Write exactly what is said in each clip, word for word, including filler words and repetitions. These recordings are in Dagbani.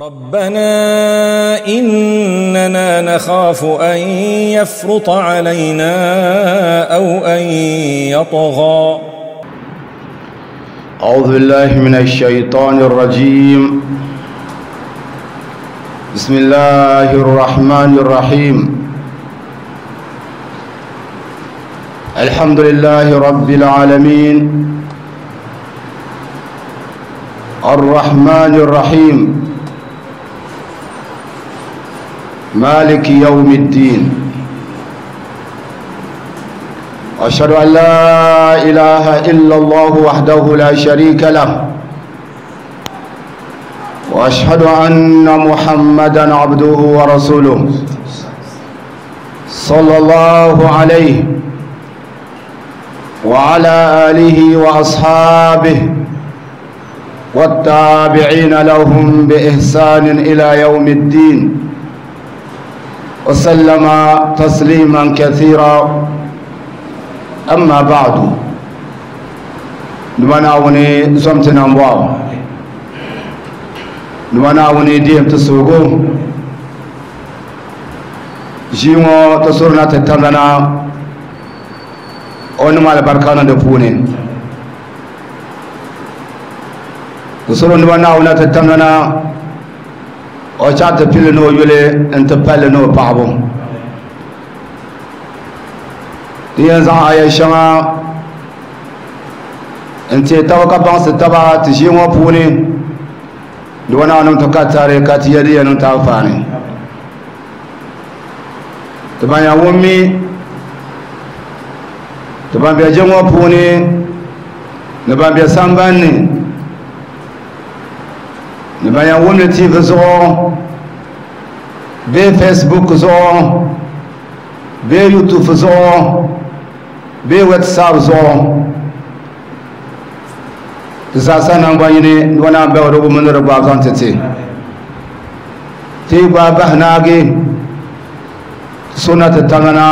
ربنا إننا نخاف أن يفرط علينا أو أن يطغى. أعوذ بالله من الشيطان الرجيم. بسم الله الرحمن الرحيم. الحمد لله رب العالمين الرحمن الرحيم مالك يوم الدين. أشهد أن لا إله إلا الله وحده لا شريك له، وأشهد أن محمدا عبده ورسوله صلى الله عليه وعلى آله وأصحابه والتابعين لهم بإحسان إلى يوم الدين وسلم تسليما كثيرا. أما بعد، نمناوني زمتنا واو نمناوني ديم تسوغو جيمو تسورنا تتمنا ونما البركان دفوني تسورنا نمناونا تتمنا وشات فيلنو يولي انت فيلنو بعضو ينزع آية شما انت توقع بانس تبع تجيمو بوني دوانا نم تكاتاري كاتيادي نم تافاني تبان يا ومي تبان بيجمو بوني نبان بيسامباني نبان يا ومي تيف زو بي فيسبوك زو بي يوتيوب زو بي واتساب زو تساسا نانغواني وانا بيورو من ربا زانتتي تي بابا هناغي سنة تمنا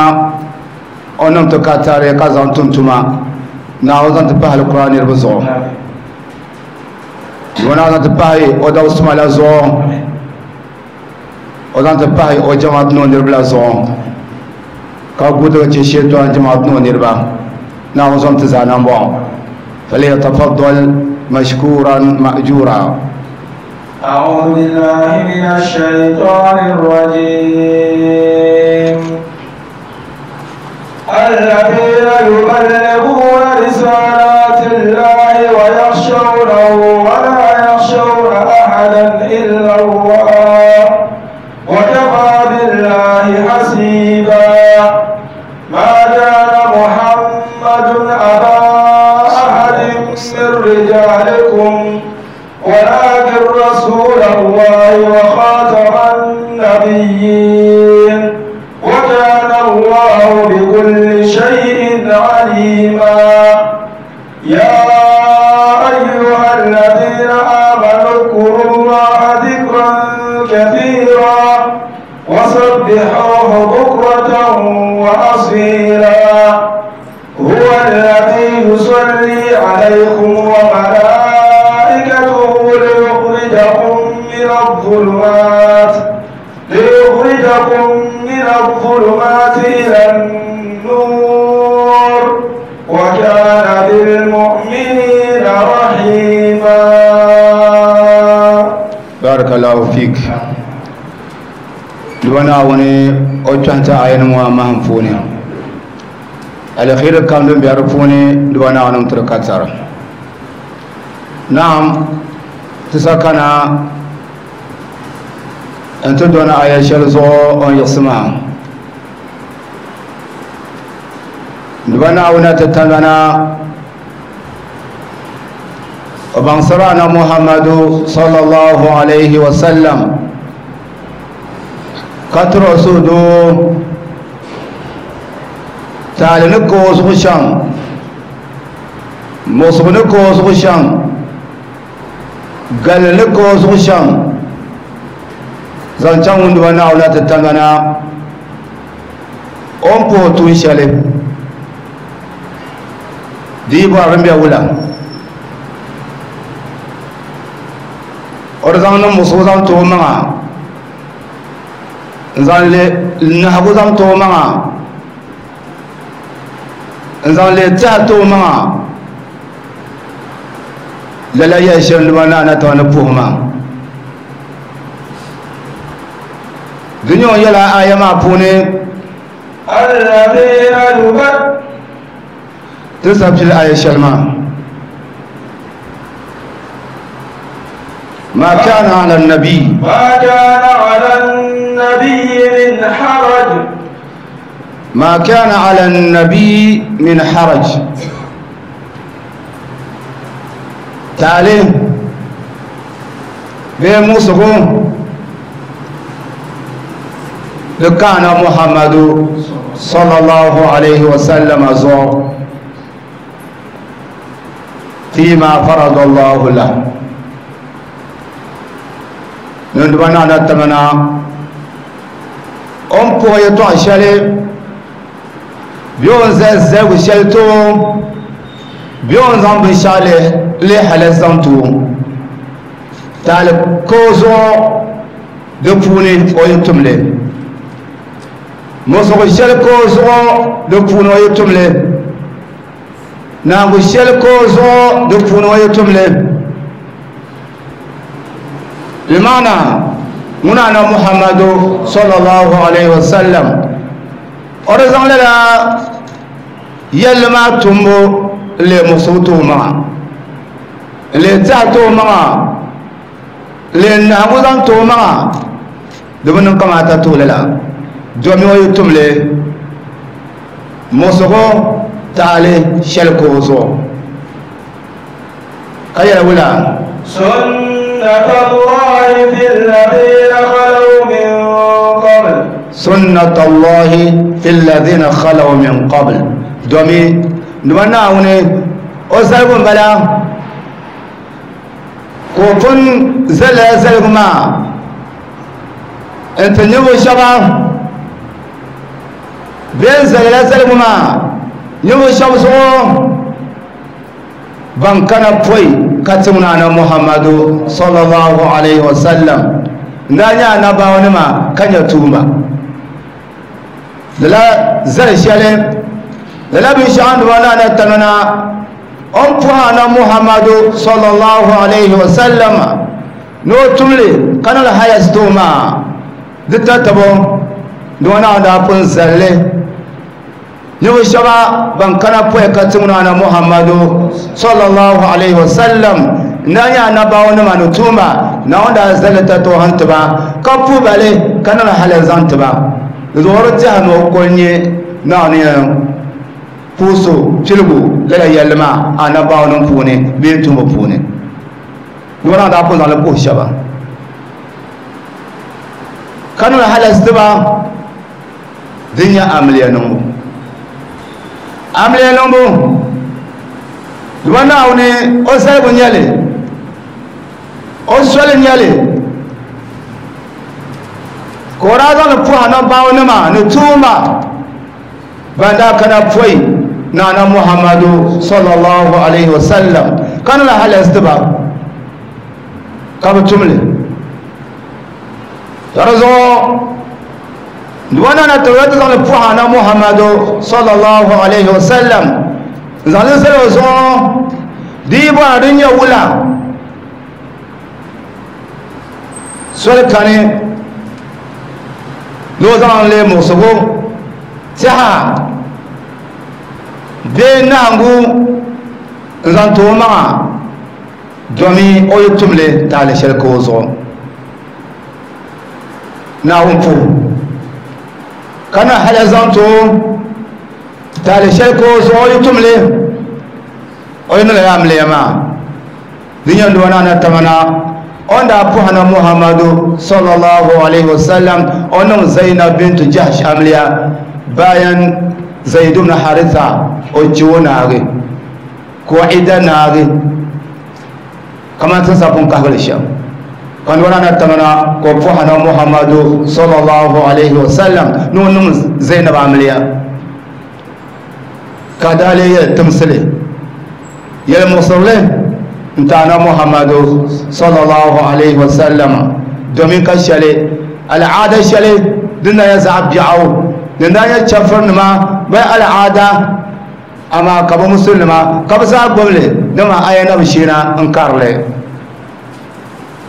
اونم تكاتاري كازان تمتما ناوزان تباه القرآن يربزو وانا زان تباه او داو سمالا زو او زان تباه او جماعت نو نربلا زو ka gudu ce shetuwan jama'at no nirba na wazon ta zanan ba falyatafaddal mashkuran ma'jura. أعوذ بالله من الشيطان الرجيم. الذين يبلغون رسالات الله ويخشونه ولا يخشون أحدا إلا الله وكفى بالله حسيبا. ما كان محمد أبا أحد من رجالكم ولكن رسول الله وخاتم النبيين وكان الله بكل شيء عليما. يا أيها الذين آمنوا اذكروا الله ذكرا كثيرا وسبحوه بكرة وأصيلا. هو الذي يصلي عليكم وملائكته ليخرجكم من الظلمات ليخرجكم من الظلمات إلى النور وكان بالمؤمنين رحيما. بارك الله فيك. دوانا وني أوتشانتا عين مهم فوني الخير كان دون بيعرفوني دوانا ونم تركاتر. نعم تسكنا أنت دوانا آية شلزو أن يسمع دوانا ونا تتلنا وبنصرنا محمد صلى الله عليه وسلم كتر سودو تعلنكو سوشان مصبنكو سوشان قالنكو سوشان زانچان وندوانا ولا تتمنا أمبو تونشالي دي بارم بيا ولا O di zaŋ niŋ musugu zaŋ ti o maŋa n zaŋ le nahagu zaŋ ti o maŋa n zaŋ le tɛha ti o maŋa lala yɛli shɛli nima na na taba ni puhi ma di nyɛ o yɛla aya maa puuni الذين يبدلون ti sabili aya shɛli maa ما كان على النبي ما كان على النبي من حرج ما كان على النبي من حرج تعالي بموسكو لكان محمد صلى الله عليه وسلم زور فيما فرض الله له ندبنا نتمنى أم بويتو عشالي بيون زي زي وشلتو بيون زان بشالي لي حلزانتو تعال كوزو دفوني ويتملي موسو شل كوزو دفوني ويتملي نانغو شل كوزو دفوني ويتملي بمعنى منانا محمد صلى الله عليه وسلم أرزان لنا يلما تمو لمصوتو معا لتعتو معا لنهبوزان معا دمنا كما تتو للا دومي ويتم لي مصوتو تعالي شلكوزو كيا ولا سنة الله في الذين خلوا من قبل سنة الله في الذين خلوا من قبل دومي نوانا هوني أسألكم بلا كوفن زل زلكما أنت نيو شباب بين زل زلكما نيو شباب سو بانكنا بوي كتمنا أنا محمد صلى الله عليه وسلم نانيا نباونما كان يتوما لا زل شالي لا بشان وانا نتمنى أم أنا محمد صلى الله عليه وسلم نو تملي كان الحياة ستوما دتتبو دونا دابن زلي نو شبا بان كان بوي كتمنا أنا محمد صلى الله عليه وسلم نانيا نباونما نتوما نوندا زلتا توهنتبا كفو بالي كان الحياة زانتبا زورتها نو كوني نانيا puso filgu lala yɛlli maa anabaawa nim puuni bee tumbu puuni dɔna daa pun zaŋli puhi shɛba ka niŋ halasitiba din nyɛ amiliya niŋbu amiliya niŋbu duma Naawuni o zaligu nyɛli o soli nyɛli ka o daa zaŋli puhi anabaawa nima ni tuuma ban daa kana pɔi نانا محمد صلى الله عليه وسلم كان لها الاستباب كابتملي ترزو دوانا نتوات زان بوحانا محمد صلى الله عليه وسلم زان سلوزو دي بوانا دنيا ولا سؤال كان لو زان لي موسوغو تها bee naangu n zaŋ ti o maŋa domi o yi tumli taali shɛli ka o zuɣu Naawuni puhi ka na hali zaŋ ti o taali shɛli ka o zuɣu o yi tumli o yi niŋla amiliya maa di nyɛ doo na tamana o ni daa puhi na Muhammadu sallallahu alaihi wasallam o niŋ Zainab bintu Jahsh amiliya bayan Zaid ibn Haritha o jiwo naagi ko ida naagi kama tin sapun kahbali shɛm kan wana na tamana ko puhana Muhammadu sallallahu alaihi wasallam no niŋ Zainab amiliya ka daa lee yɛli timsili yɛli muɣusirili N-ti ana Muhammadu sallallahu alaihi wasallam domin ka shɛli al'aada shɛli din na nyɛ zaɣ biɛɣu din na nyɛ chɛfurinima bee al'aada amaa ka bɛ musulinima ka bɛ zaa gbubili dama aya na bi sheena n karili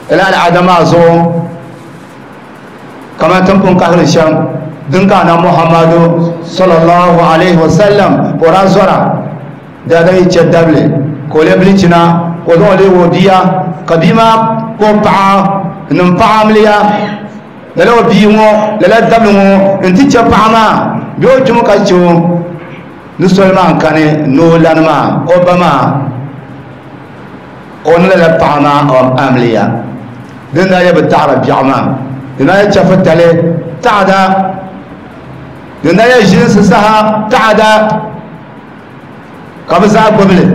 lala al'aada maa zuɣu kamani tin pun kahili shɛm din ka ana Muhammadu sallallahu alaihi wasallam ka o daa zɔra daadam yi chɛ dabili ka o lee bilichina ka o zaŋ o leegi o bia ka bia maa ka o paɣa n-niŋ paɣa amiliya lala o bia ŋɔ lala dabili ŋɔ n-ti chɛ paɣa maa bee o kpimi ka chɛ o ni soli maa n-kani ni o lani maa o ba maa o ni lala paɣa maa amiliya din daa nyɛ bɛ taɣiri biɛɣu maa din daa nyɛ chɛfutali taɣada din daa nyɛ ʒilinsi saha taɣada ka bɛ zaa gbubili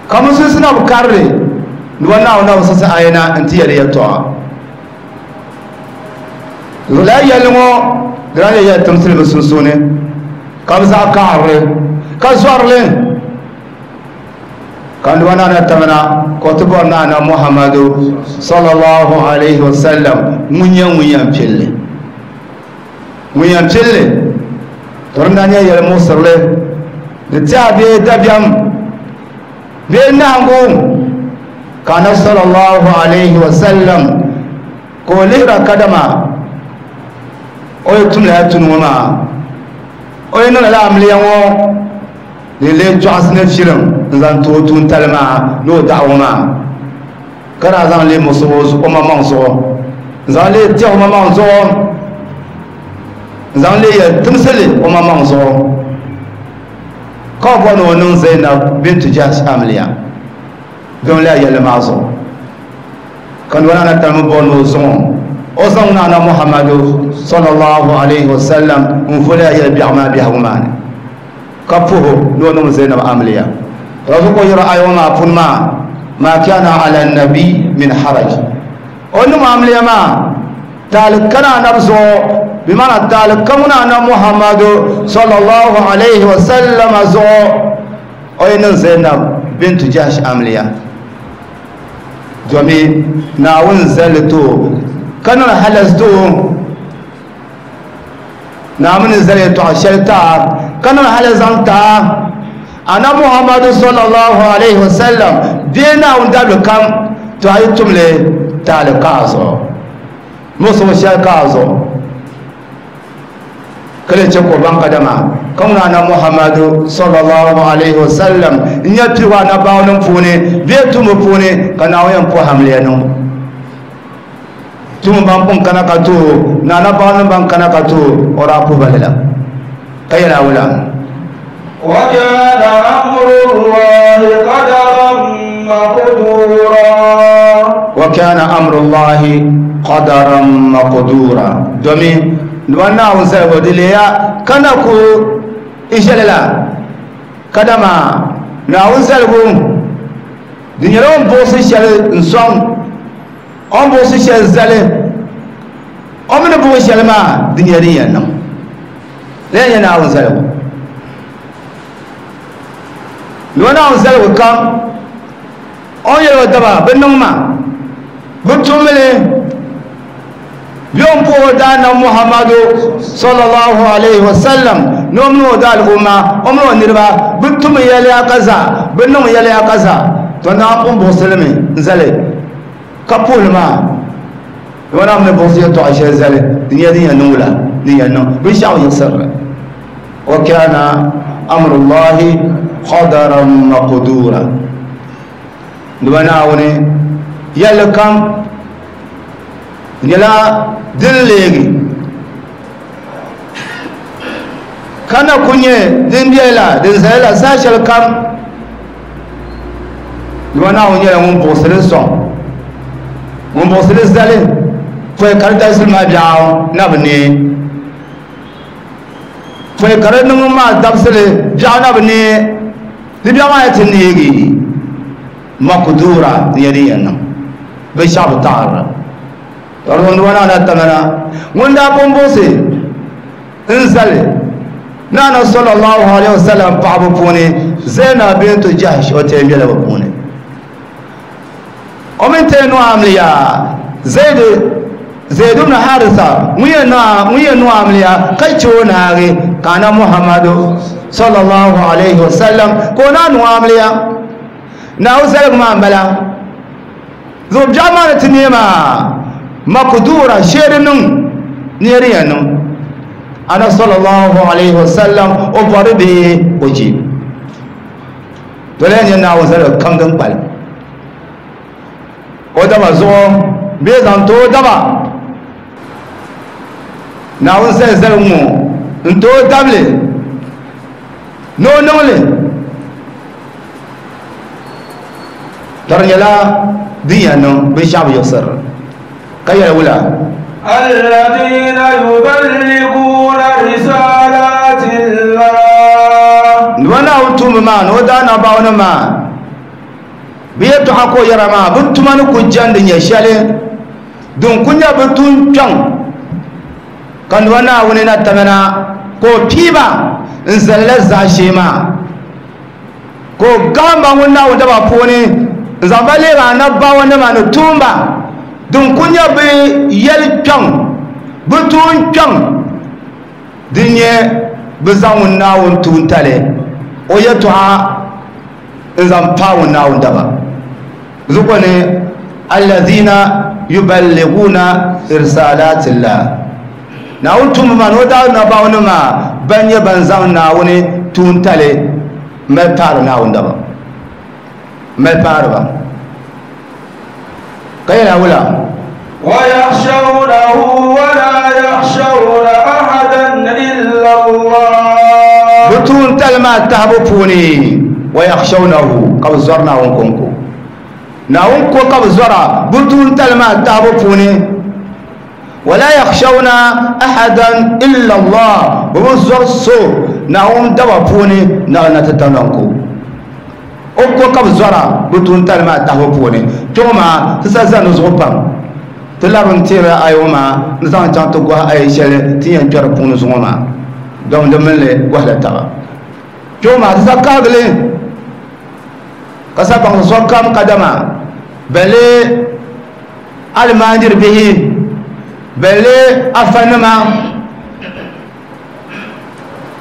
ka musulinsi na bi karili ni ba Naawuni na bi siɣisi ayana n-ti yɛli yɛltɔɣa lala yɛlli ŋɔ di daa nyɛ yɛli timsili bɛ sunsuuni ka bɛ zaa kaɣarili ka zɔrili ka nuba naana tamina ka o ti bɔri naana Muhammadu sallallahu alaihi wasallam ŋun nyɛ ŋun yɛn pilli ŋun yɛn pilli to din daa nyɛ yɛli muɣisirili di tiɛha bee dabiɛm bee nahingu ka anabi sallallahu alaihi wasallam ka o lihira kadama o yi tum lala tuni ŋɔ maa o yi niŋ lala amiliya ŋɔ di lee chɔɣisi ni filim n-zaŋ ti o tuuntali maa ni o daɣu maa ka daa zaŋ lee muɣisi o maŋmaŋ zuɣu n-zaŋ lee tɛhi o maŋmaŋ zuɣu n-zaŋ lee yɛli timsili o maŋmaŋ zuɣu ka o bɔri ni o niŋ Zainab bintu Jahsh amiliya dɔn lala yɛlli maa zuɣu ka nuba naana talimi bɔri ni o zaŋ o zaŋ naana Muhammadu sallallahu alaihi wasallam n-vo lala yɛli biɛɣu maa biɛhigu maa ni ka puhi ni o niŋ Zainab amiliya razu ko yɛra ayo maa puni maa ma kana ala nabi min haraj o niŋ amiliya maa taali kana anabi zuɣu bi maana taali ka ŋuna ana Muhammadu sallallahu alaihi wasallam zuɣu o yi niŋ Zainab bintu Jahsh amiliya domin Naawuni zali ti o ka niŋ halas ti o Naawuni zali yɛltɔɣa shɛli taa ka niŋ hali zaŋ taa ana Muhammadu sallallahu alaihi wasallam bee Naawuni dabili kam to a yi tumli taali ka a zuɣu muɣisigu shɛli ka a zuɣu ka lee chɛ ka o baŋ kadama ka ŋuna ana Muhammadu sallallahu alaihi wasallam n-nyɛ piligu anabaawanim puuni bee tumbu puuni ka Naawuni yɛn puhi amiliya niŋbu tum ban pun kana ka to ni anabaawanim ban kana ka to o daa puhi ba lala ka yɛli awula وكان أمر الله قدرا مقدورا وكان أمر الله قدرا مقدورا domin nuba Naawuni zaligu di leeya ka na ku n-shɛli la kadama Naawuni zaligu di nyɛla o ni buɣisi shɛli n-sɔŋ o ni buɣisi shɛli zali o mi ni buɣi shɛli maa di nyɛla din yɛn niŋ lala nyɛ Naawuni zaligu nuba Naawuni zaligu kam o ni yɛli o daba bɛ niŋ ma bɛ tumli bɛ o ni puhi o daanab Muhammadu sallallahu alaihi wasallam ni o mini o daal'umma o mini o niriba bɛ tum yɛliya ka zaa bɛ niŋ yɛliya ka zaa to Naawuni pun buɣisili mi n-zali ka puhili maa nuba Naawuni ni buɣisi yɛltɔɣa shɛli zali di nyɛla din yɛn niŋ wula din yɛn niŋ binshɛɣu yiɣisirili wa kana amrullahi qadaran maqdura nuba Naawuni yɛlli kam nyɛla din leegi ka na ku nyɛ din biɛla din zaya la saha shɛli kam nuba Naawuni nyɛla ŋun buɣisili sɔŋ ŋun buɣisili zali pɔi ka di dabisili maa biɛɣu na bi neei pɔi ka di niŋ maa dabisili biɛɣu na bi neei di biɛɣu maa yɛ ti neegi maqdura di nyɛ din yɛn niŋ binshɛɣu bi taɣarira tɔri nuba naana tamana ŋun daa pun buɣisi n zali naana sallallahu alaihi wasallam paɣaba puuni Zainab bintu Jahsh o tɛɛ bela bɛ puuni O mini ti nuamliya Zaid Zaid ibn Haritha ŋun yɛn nuamliya ka che o naagi ka ana Muhammadu sallallahu alayhi wa sallam ka o naa nuamliya Naawuni zaligu maa m-bala zuɣu biɛɣu maa ni ti neei maa makdura shee di niŋ neeri yɛn niŋ ana sallallahu alayhi wa sallam o bɔri bee o je to lahi nyɛ Naawuni zaligu kam din kpalim o daba zuɣu bee zaŋ ti o daba Naawuni zali zaligu ŋɔ n ti o dabili ni o niŋli ka di nyɛla din yɛn niŋ binshaɣu bi yiɣisiri ka yɛli wula الذين يبلغون رسالات الله ni ba Naawuni tuumba maa ni o daa nabaawuni maa bɛ yɛltɔɣa ka o yɛra maa bɛ tuma ni ku jɛndi nyɛ shɛli din ku nyɛ bɛ tuun kpɛŋ ka ni ba Naawuni na tamina ka o piiba n zalila zaashee maa ka o gahamba ŋun Naawuni daba puuni n zaŋ ba leegi anabaawanima ni tuumba din ku nyɛ bɛ yɛli kpɛŋ bɛ tuun kpɛŋ din nyɛ bɛ zaŋ ŋun Naawuni tuuntali o yɛltɔɣa n zaŋ paai ŋun Naawuni daba zuɣu ni allazina yuballiguna irsalatillah Naawuni tuumba maa ni o daa nabaawuni maa ban nyɛ ban zaŋ Naawuni tuuntali mali paari Naawuni daba mali paari ba ka yɛla wula ويخشونه ولا يخشون أحدا إلا الله bɛ tuuntali maa tahibu puuni ويخشونه ka bɛ zɔri Naawuni kɔŋko Naawuni ko ka bɛ zɔra bɛ tuuntali maa tahibu puuni ولا يخشون أحدا إلا الله bɛ bi zɔri so Naawuni daba puuni naɣ na ti tanɔŋko o ko ka bɛ zɔra bɛ tuuntali maa tahibu puuni kpɛŋɔ maa ti sa zani zuɣu pam ti labi n teeri ayo maa n zaŋ chaŋ ti gɔhi ayi shɛli ti yɛn kpɛri puuni zuŋɔ maa dɔm di mini li gɔhila taba kpɛŋɔ maa ti sa kahigili ka sa baŋ sokam kadama bale almaajiri bihi bale afanima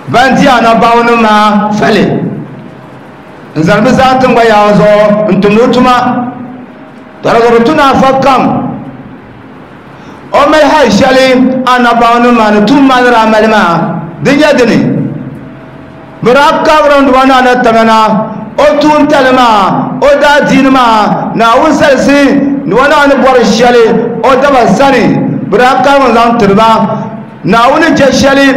ban di anabaawanima fali n zani bɛ zaa tiŋgba yaa zuɣu n tumdi o tuma tɔrɔgiri tuna afa kam o mali hali shɛli anabaawanima ni tum maa ni daa mali maa di nyɛ dini bɛ daa kabiri n duba ni ana tamana o tuuntali maa o daa diini maa Naawuni salisi ni o naa ni bɔri shɛli o daba sani bɛ daa kahigi zaŋ tiri ba Naawuni je shɛli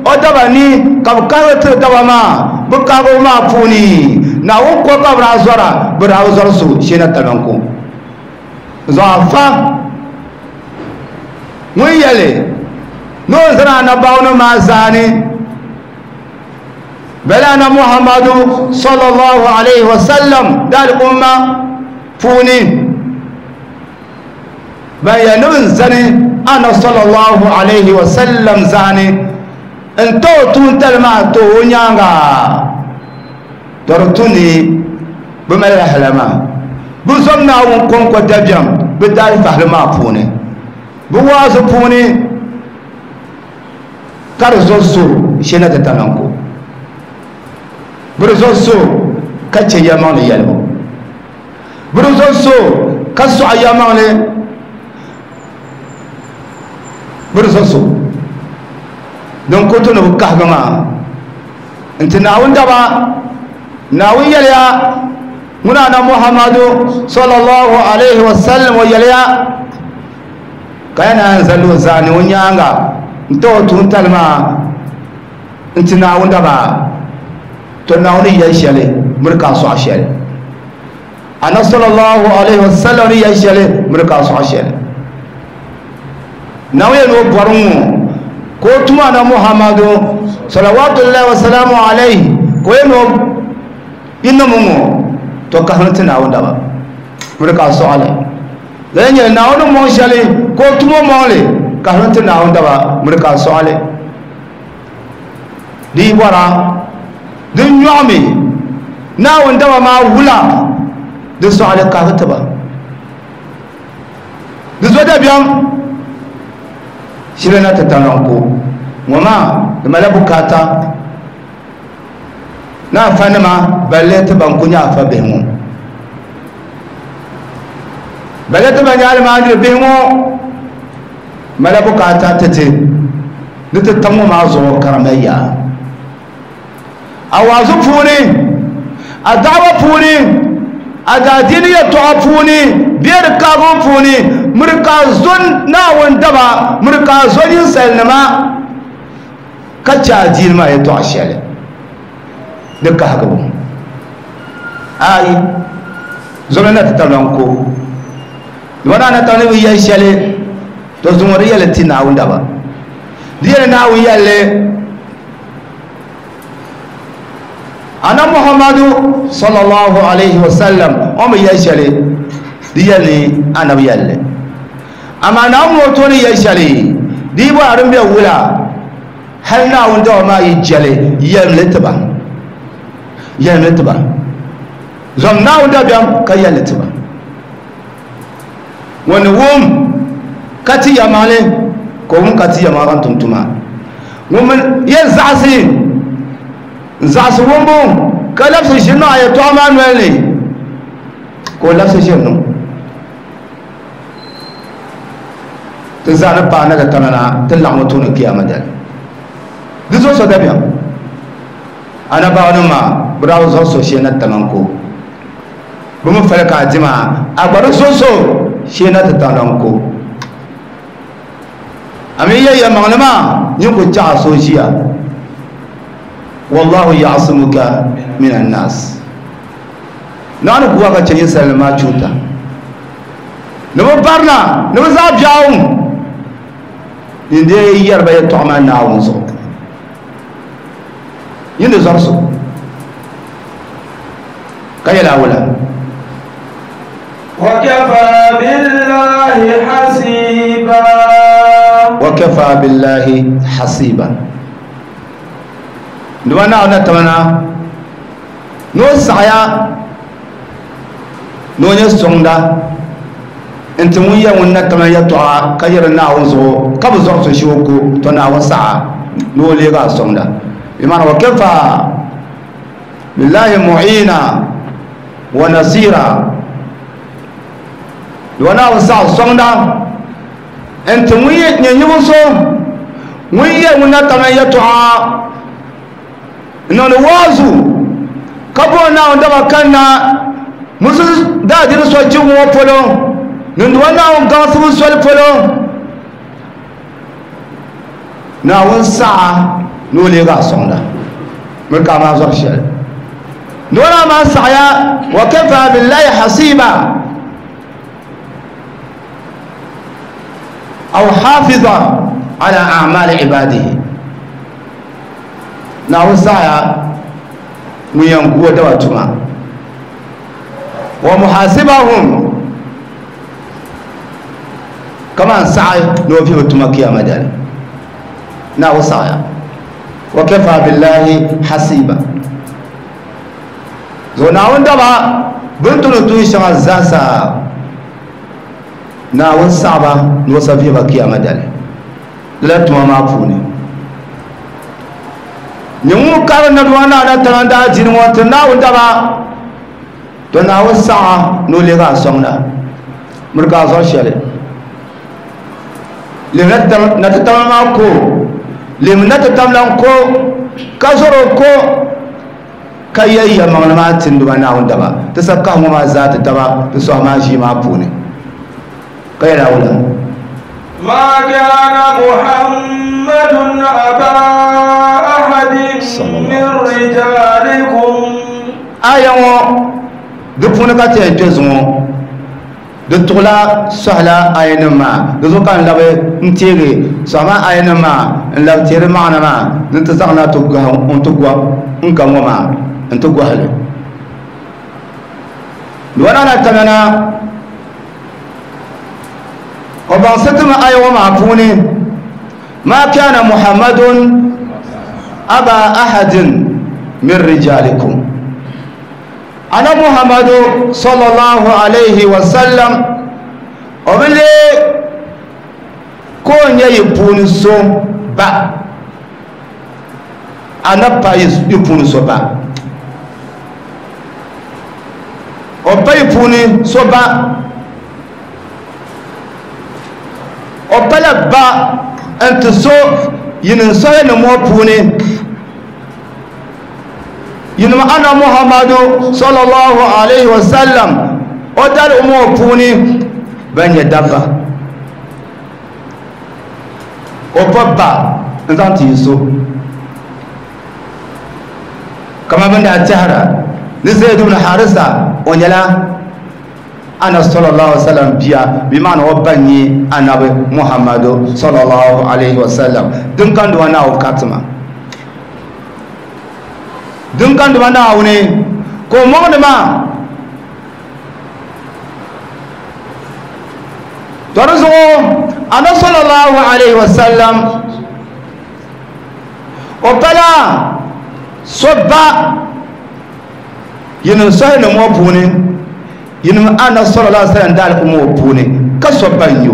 o daba ni ka bɛ kahigi tiri daba maa bɛ kahigibu maa puuni Naawuni ko ka bɛ daa zɔra bɛ daa bi zɔri so shee na tamanko zuɣu afa ŋun yɛli ni o zani anabaawuni maa zaani bala ana Muhammadu sallallahu alayhi wa sallam da al'umma puuni ban yɛli ni bɛ zani ana sallallahu alayhi wa sallam zaani n to o tuuntali maa to o nyaanga to di tu ni bɛ malila hala maa bɛ zom Naawuni kɔŋko dabiɛm bɛ daalifahili maa puuni bɛ waazu puuni ka di zo so shee na ti tamanko bɛ di zo so ka che yɛlimaŋli yɛlibu bɛ di zo so ka sɔɣi yɛlimaŋli bɛ di zo so din ku tu ni bɛ kahigi maa n ti Naawuni daba Naawuni yɛliya ŋuna ana Muhammadu sallallahu alayhi wa sallam o yɛliya ka ya naan zali o zaani o nyaanga n ti o tuuntali maa n ti Naawuni daba to Naawuni yɛli shɛli miri ka a sɔɣi shɛli ana sallallahu alayhi wa sallam ni yɛli shɛli miri ka a sɔɣi shɛli Naawuni yɛli ni o bɔri ŋɔ ka o tuma ana Muhammadu salawatullahi wa salamu alayhi ka o yɛli ni o yinim ŋɔ to kahimi ti Naawuni daba miri ka a sɔɣi li lala nyɛla Naawuni mɔŋ shɛli ka o tumo mɔŋ li kahimi ti Naawuni daba miri ka a sɔɣi li di yi bɔra din nyɔɣimi Naawuni daba maa wula di sɔɣili kahigi tiba Di zo dabiɛm shiri na ti talanko ŋɔ maa di mala bukaata na afa nima balle ti ban ku nyɛ afa bihi ŋɔ balle ti ban nyɛ almaajiri bihi ŋɔ mala bukaata ti ti ni ti tam ŋɔ maa zuɣu karamaya a waazu puuni a da'awa puuni a daadiini yɛltɔɣa puuni bee di kaabu puuni miri ka zo Naawuni daba miri ka zo ninsalinima ka chɛ adiini maa yɛltɔɣa shɛli di kahigibu ayi zoma na ti tabila n ko dama na na tabila bi yɛli shɛli to zuŋɔ di yɛli ti Naawuni daba di yɛli Naawuni yɛlli ana Muhammadu sallallahu alaihi wasallam o mi yɛli shɛli di yɛli anabi yɛlli amma Naawuni ŋɔ tooni yɛli shɛli di yi bɔra din bɛ wula hali Naawuni daba maa yi jɛli yɛlimli tiba yɛlimli tiba zom Naawuni dabiɛm ka yɛlli tiba ŋuni wum ka ti yɛmaŋli ka o wum ka ti yɛmaŋli ka tum tuma ŋun mi yɛn zaɣasi zaɣasi wumbu ka labisi ʒiri niŋ a yɛltɔɣa maa noli ni ka o labisi ʒiri niŋ ti zaa ni paai na ti tamana ti laɣim tooni kiyama dali di zuɣu so dabiɛm anabaawa maa bi daa bi zuɣu so shee na taman ko bi mi fali ka a di maa a gba di zuɣu so shee na ti taman ko a mi yɛ yɛlimaŋli maa nyin ku chaɣa so ʒiya wallahu ya'simuka minan nas naani kuwa ka chɛ ninsalinima maa chuuta ni bi barina ni bi zaɣ biɛɣu nin dee yɛriba yɛltɔɣa maa Naawuni zuɣu yin di zɔri so ka yɛli awula وكفى بالله حسيبا وكفى بالله حسيبا nduma Naawuni na tamana ni o saɣaya ni o nyɛ sɔŋda n ti ŋun yɛ ŋun na tamana yɛltɔɣa ka yɛri Naawuni zuɣu ka bi zɔri so shee o ko to Naawuni saɣa ni o leegi a sɔŋda bimana wa kafa billahi mu'ina wa nasira nduma Naawuni saɣa sɔŋda n ti ŋun nyɛ nyibu so ŋun yɛ ŋun na tamana yɛltɔɣa niŋdi waazu ka bo Naawuni daba kanna musu daadini so jibu ŋɔ polo niŋdiba Naawuni gaŋsibu soli polo Naawuni saɣa ni o leegi a sɔŋda miri ka a maa zɔri shɛli niŋdiba naa maa saɣaya wa kafa billahi hasiba aw hafiza ala a'mali ibadihi Naawuni saɣaya ŋun yɛn gu o daba tuma wa muhasibahum kaman saɣi ni o vihi tuma kiyama dali Naawuni saɣaya wa kafa billahi hasiba zuɣu Naawuni daba bini tuni tuun shɛŋa zaasa Naawuni saɣaba ni o sa vihi ba kiyama dali lala tuma maa puuni nyɛ ŋun kari naduma naa na taŋa daa dini ŋɔ ti Naawuni daba to Naawuni saɣa ni o leegi a sɔŋda miri ka a zɔri shɛli lem na ti tamla maa ko lem na ti tamla n ko ka zɔri o ko ka yɛ yɛlimaŋli maa ti nduma Naawuni daba ti sa kahi ŋɔ maa zaa ti taba ti sɔhi maa ʒii maa puuni ka yɛli awula ما كان محمد أبا أحد من رجالكم aya ŋɔ di puuni ka ti yɛn kpɛ zuŋɔ di tuɣula sɔhila aya nim maa di zuɣu ka n labi n teegi sɔhi maa aya nim maa n labi teeri maɣana maa ni ti zaŋ na n ti gɔhi n ka ŋɔ maa n ti gɔhili di na tamana o baŋsi ti mi aya ŋɔ maa puuni ma kana Muhammadun aba ahadin min rijalikum ana Muhammadu sallallahu alaihi wasallam O bi lee ka o nyɛ yi puuni so ba annabi pa yi puuni so ba o pa yi puuni so ba o pala ba n ti so yinim sɔhili ŋɔ puuni yinim ana Muhammadu sallallahu alaihi wasallam o dali ŋɔ puuni ban nyɛ dabba o pa ba n zaŋ ti yi so kama bin daa tɛhira ni Zayd ibn Harisa o nyɛla ana sallallahu alaihi wasallam biya bi maana o ba nyɛ anabi Muhammadu sallallahu alaihi wasallam din kan duwa Naawuni katima din kan duwa Naawuni ko mɔŋdi maa to di zuɣu ana sallallahu alaihi wasallam o pala so ba yinim sɔhili ŋɔ puuni yinim ana sallallahu alaihi wasallam daali ŋɔ puuni ka so ba n yo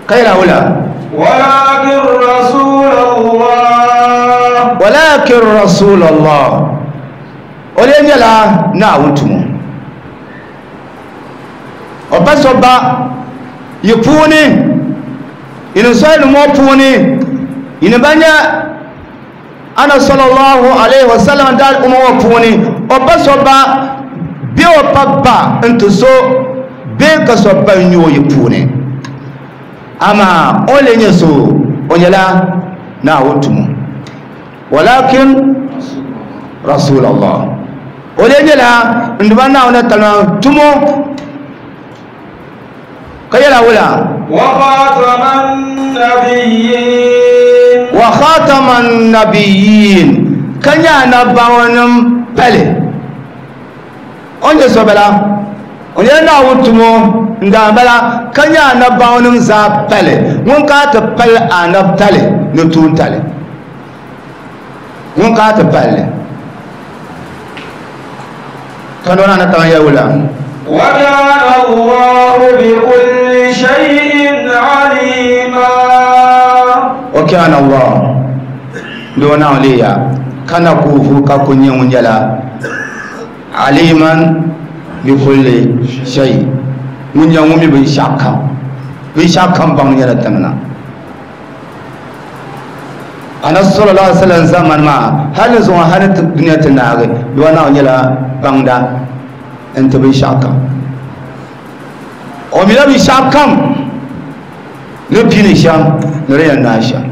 ka yɛla wula walakin rasulallah walakin rasulallah o lee nyɛla Naawuni tumo o pa so ba yi puuni yinim sɔhili ŋɔ puuni yinim ba nyɛ ana sallallahu alaihi wasallam daali ŋɔ puuni o pa so ba bɛ o pa ba n ti so bee ka so ba n nyɛ o yi puuni amaa o lee nyɛ so o nyɛla Naawuni tumo walakin rasulallah o lee nyɛla n duba Naawuni talima tumo ka yɛla wula wa khataman nabiyyin wa khataman nabiyyin ka nyɛ annabawanim pali o nyɛ so bala o nyɛla Naawuni tumo n daa bala ka nyɛ annabawanim zaa pali ŋun ka ti pali annabtali ni tuuntali ŋun ka ti pali ka nona na taŋ yɛ wula wa kana Allahu bi kulli shay'in alima wa kana Allah do na liya kana kufu ka kunye ŋun nyɛla aliman bi kulli shay ŋun nyɛ ŋun mi binshɛɣu kam binshɛɣu kam baŋ nyɛla tiŋna ana sallallahu alaihi wasallam zaman maa hali zuŋɔ hali dunia ti naagi doo na nyɛla baŋda n ti binshɛɣu kam o mila binshɛɣu kam ni pini shɛm ni di yɛn naai shɛm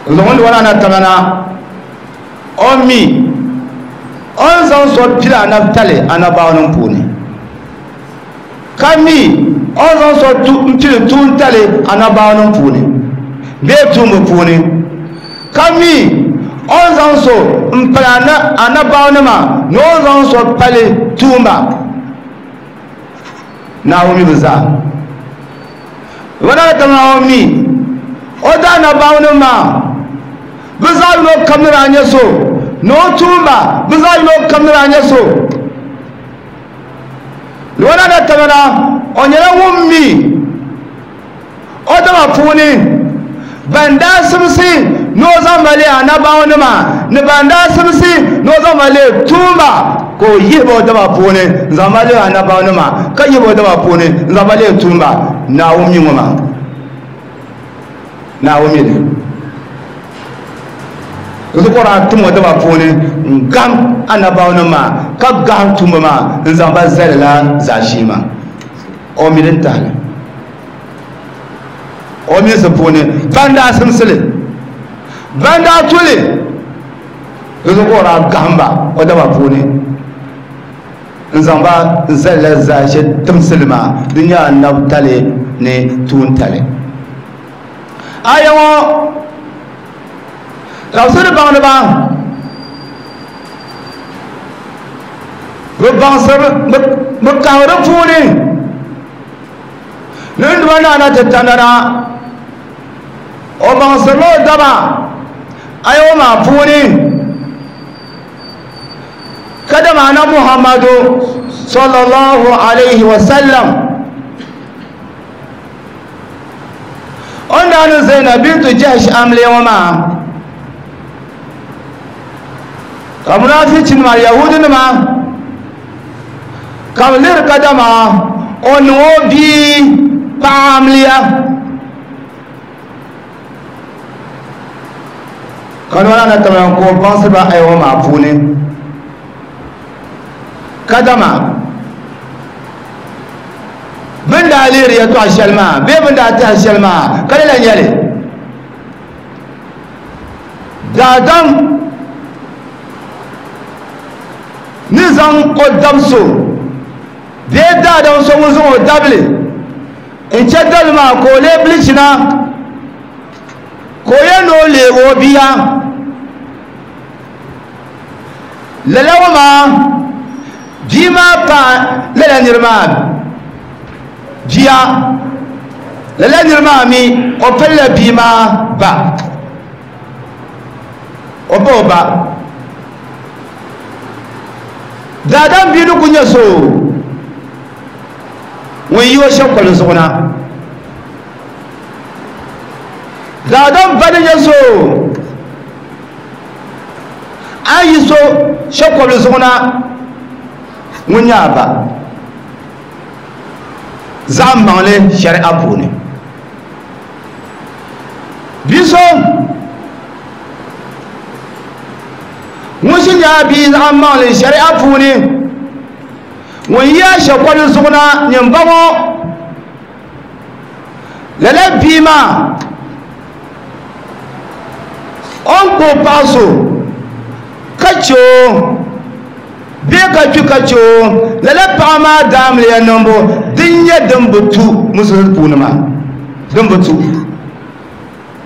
zuŋɔ ni wala na tamana o mi o ni zaŋ so pili anabitali anabaanim puuni ka mi o ni zaŋ so pili tuuntali anabaanim puuni bee tuumbu puuni ka mi o ni zaŋ so n pali anabaawanima ni o ni zaŋ so pali tuumba Naawuni mi bi zaa wala tamana o mi o da anabaawanim maa bi zaa yino kam ni daa nyɛ so ni o tuumba bi zaa yino kam ni daa nyɛ so wala na tamana o nyɛla ŋun mi o dama puuni ban daa simsi ni o zaŋ ba leei anabaawanima ni ban daa simsi ni o zaŋ ba leei tuumba ka o yihi ba o dama puuni n zaŋ ba leei anabaawanima ka yihi ba o dama puuni n zaŋ ba leei tuumba Naawuni mi ŋɔ maa Naawuni mi li zuɣu tim o dama puuni n gam anabaawanima maa ka gahim tuumba maa n zaŋ ba zali la zaashee maa o mi din tahili o minsi puuni ban daa simsili ban daa tuli zuɣu o daa gahim ba o dama puuni n zaŋ ba n zali la zaashee timsili maa di nyɛ anabitali ni tuuntali aya ŋɔ tafsiri baŋdiba bi baŋsiri bi kahiri di puuni ni n duba naana ti tanana o baŋsirila o daba aya ŋɔ maa puuni ka dama ana Muhammadu sallallahu alayhi wa sallam o ni Zainab bintu Jahsh amliya ŋɔ maa ka munafichinima yahudinima ka bɛ lihiri kadama o niŋ o bia paɣa amliya ka nɔla na tamya ka o baŋsi ba aya ŋɔ maa puuni kadama bɛn daa lihiri yɛltɔɣa shɛli maa bee bɛn daa tɛhi shɛli maa ka lala nyɛli daadam ni zaŋ o dab so bee daadam so ŋun zaŋ o dabili n chɛ dabili maa ka o lee bilichina ka o yɛn ni o leegi o bia lala ŋɔ maa bia maa pa lala niri maa bia lala niri maa mi o pilila bia maa ba o ba o ba daadam bia ni ku nyɛ so ŋun yi o shɛkoli zuɣu na daadam ba ni nyɛ so a yi so shɛkoli zuɣu na ŋun nyɛ a ba zaɣ maŋli shari'a puuni bia so ŋun ʒi nyɛ a bia zaɣ maŋli shari'a puuni ŋun yi a shɛkoli zuɣu na nyin ba ŋɔ lala bia maa o ni kpuɣi paɣa so ka che o bee ka kpi ka che o lala paɣa maa daamiliya niŋbu din nyɛ din bi tu musulunsi puuni maa din bi tu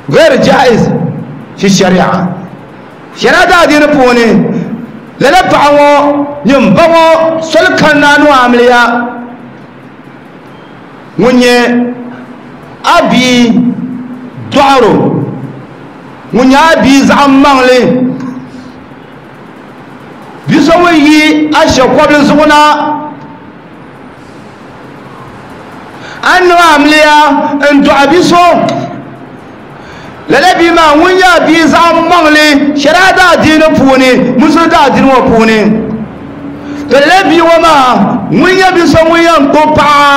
ghair jaiz fi shari'a shari'a daadiini puuni lala paɣa ŋɔ nyin ba ŋɔ soli kanna ni o amiliya ŋun nyɛ a bia dɔɣiro ŋun nyɛ a bia zaɣ maŋli bia so ŋun yi a shɛkɔbili zuɣu na a niŋ amiliya n dɔɣi bia so lala bia maa ŋun nyɛ a bia zaɣ maŋli shari'a daadiini puuni musulunsi daadiini ŋɔ puuni to lala bia ŋɔ maa ŋun nyɛ bia so ŋun yɛn kpuɣi paɣa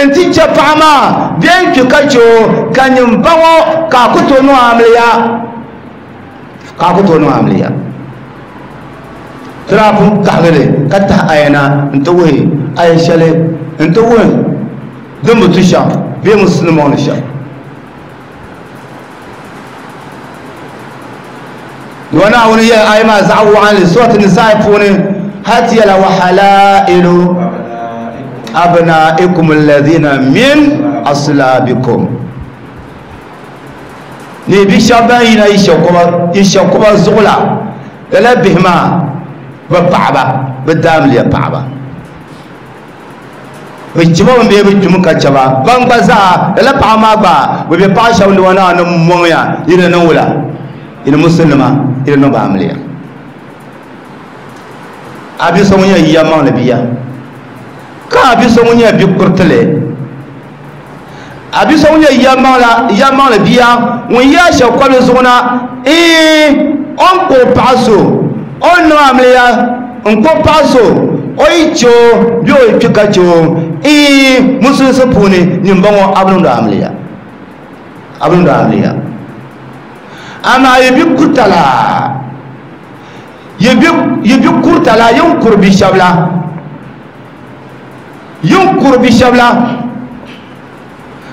n ti chɛ paɣa maa bee n kpi ka chɛ o ka nyin ba ŋɔ ka a ku tooi niŋ amiliya ka a ku tooi niŋ amiliya tira pun kahigili ka tahi aya na n ti wuhi aya shɛli n ti wuhi din bi tu shɛm bee musulunsi maŋli shɛm wa Naawuni yɛli aya maa zaɣ waɣinli surati Nisaa puuni hal ti yɛla wa halailu abnaikum alladhina min aslabikum ni bi shɛba ban yina yi shɛkuba zuɣu la lala bihi maa bi paɣaba bi daamiliya paɣaba bi chiba bin bee bi kpimi ka chɛba ban gba zaa lala paɣa maa gba bi bɛ paɣa shɛba ni wa Naawuni mɔŋya yi ni niŋ wula yi ni musulima yi ni niŋ ba amiliya a bia so ŋun nyɛ yiya maŋli bia ka a bia so ŋun nyɛ bi kuritili a bia so ŋun nyɛ yiya maŋli bia ŋun yi a shɛkɔbili zuɣu na ee o ni kpuɣi paɣa so o ni niŋ amiliya n kpuɣi paɣa so o yi che o bee o yi kpi ka che o ee musulunsi puuni nyin ba ŋɔ a bi niŋdi amiliya a bi niŋdi amiliya amaa yi bi kurita la yi bi kurita la yin kuri bi shɛba la yin kuri bi shɛba la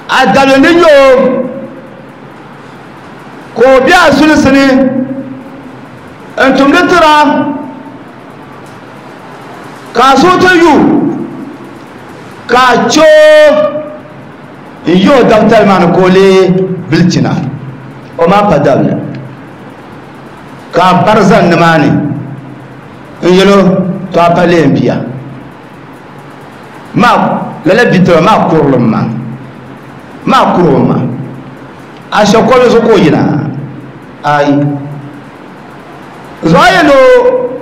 a dabili ni nyɛ o ka o bɛ a sulinsi ni n tumdi tira ka a suhu ti yu ka a che o n yi o dabitali maa ni ka o lee bilichina o maa pa dabili ka a bari zani nimaani n yɛlo to a pa lee n bia maa lala bitira maa kurilim maa maa kurilim maa a shɛkɔbili zuɣu ka o yina ayi zuɣu a yɛn o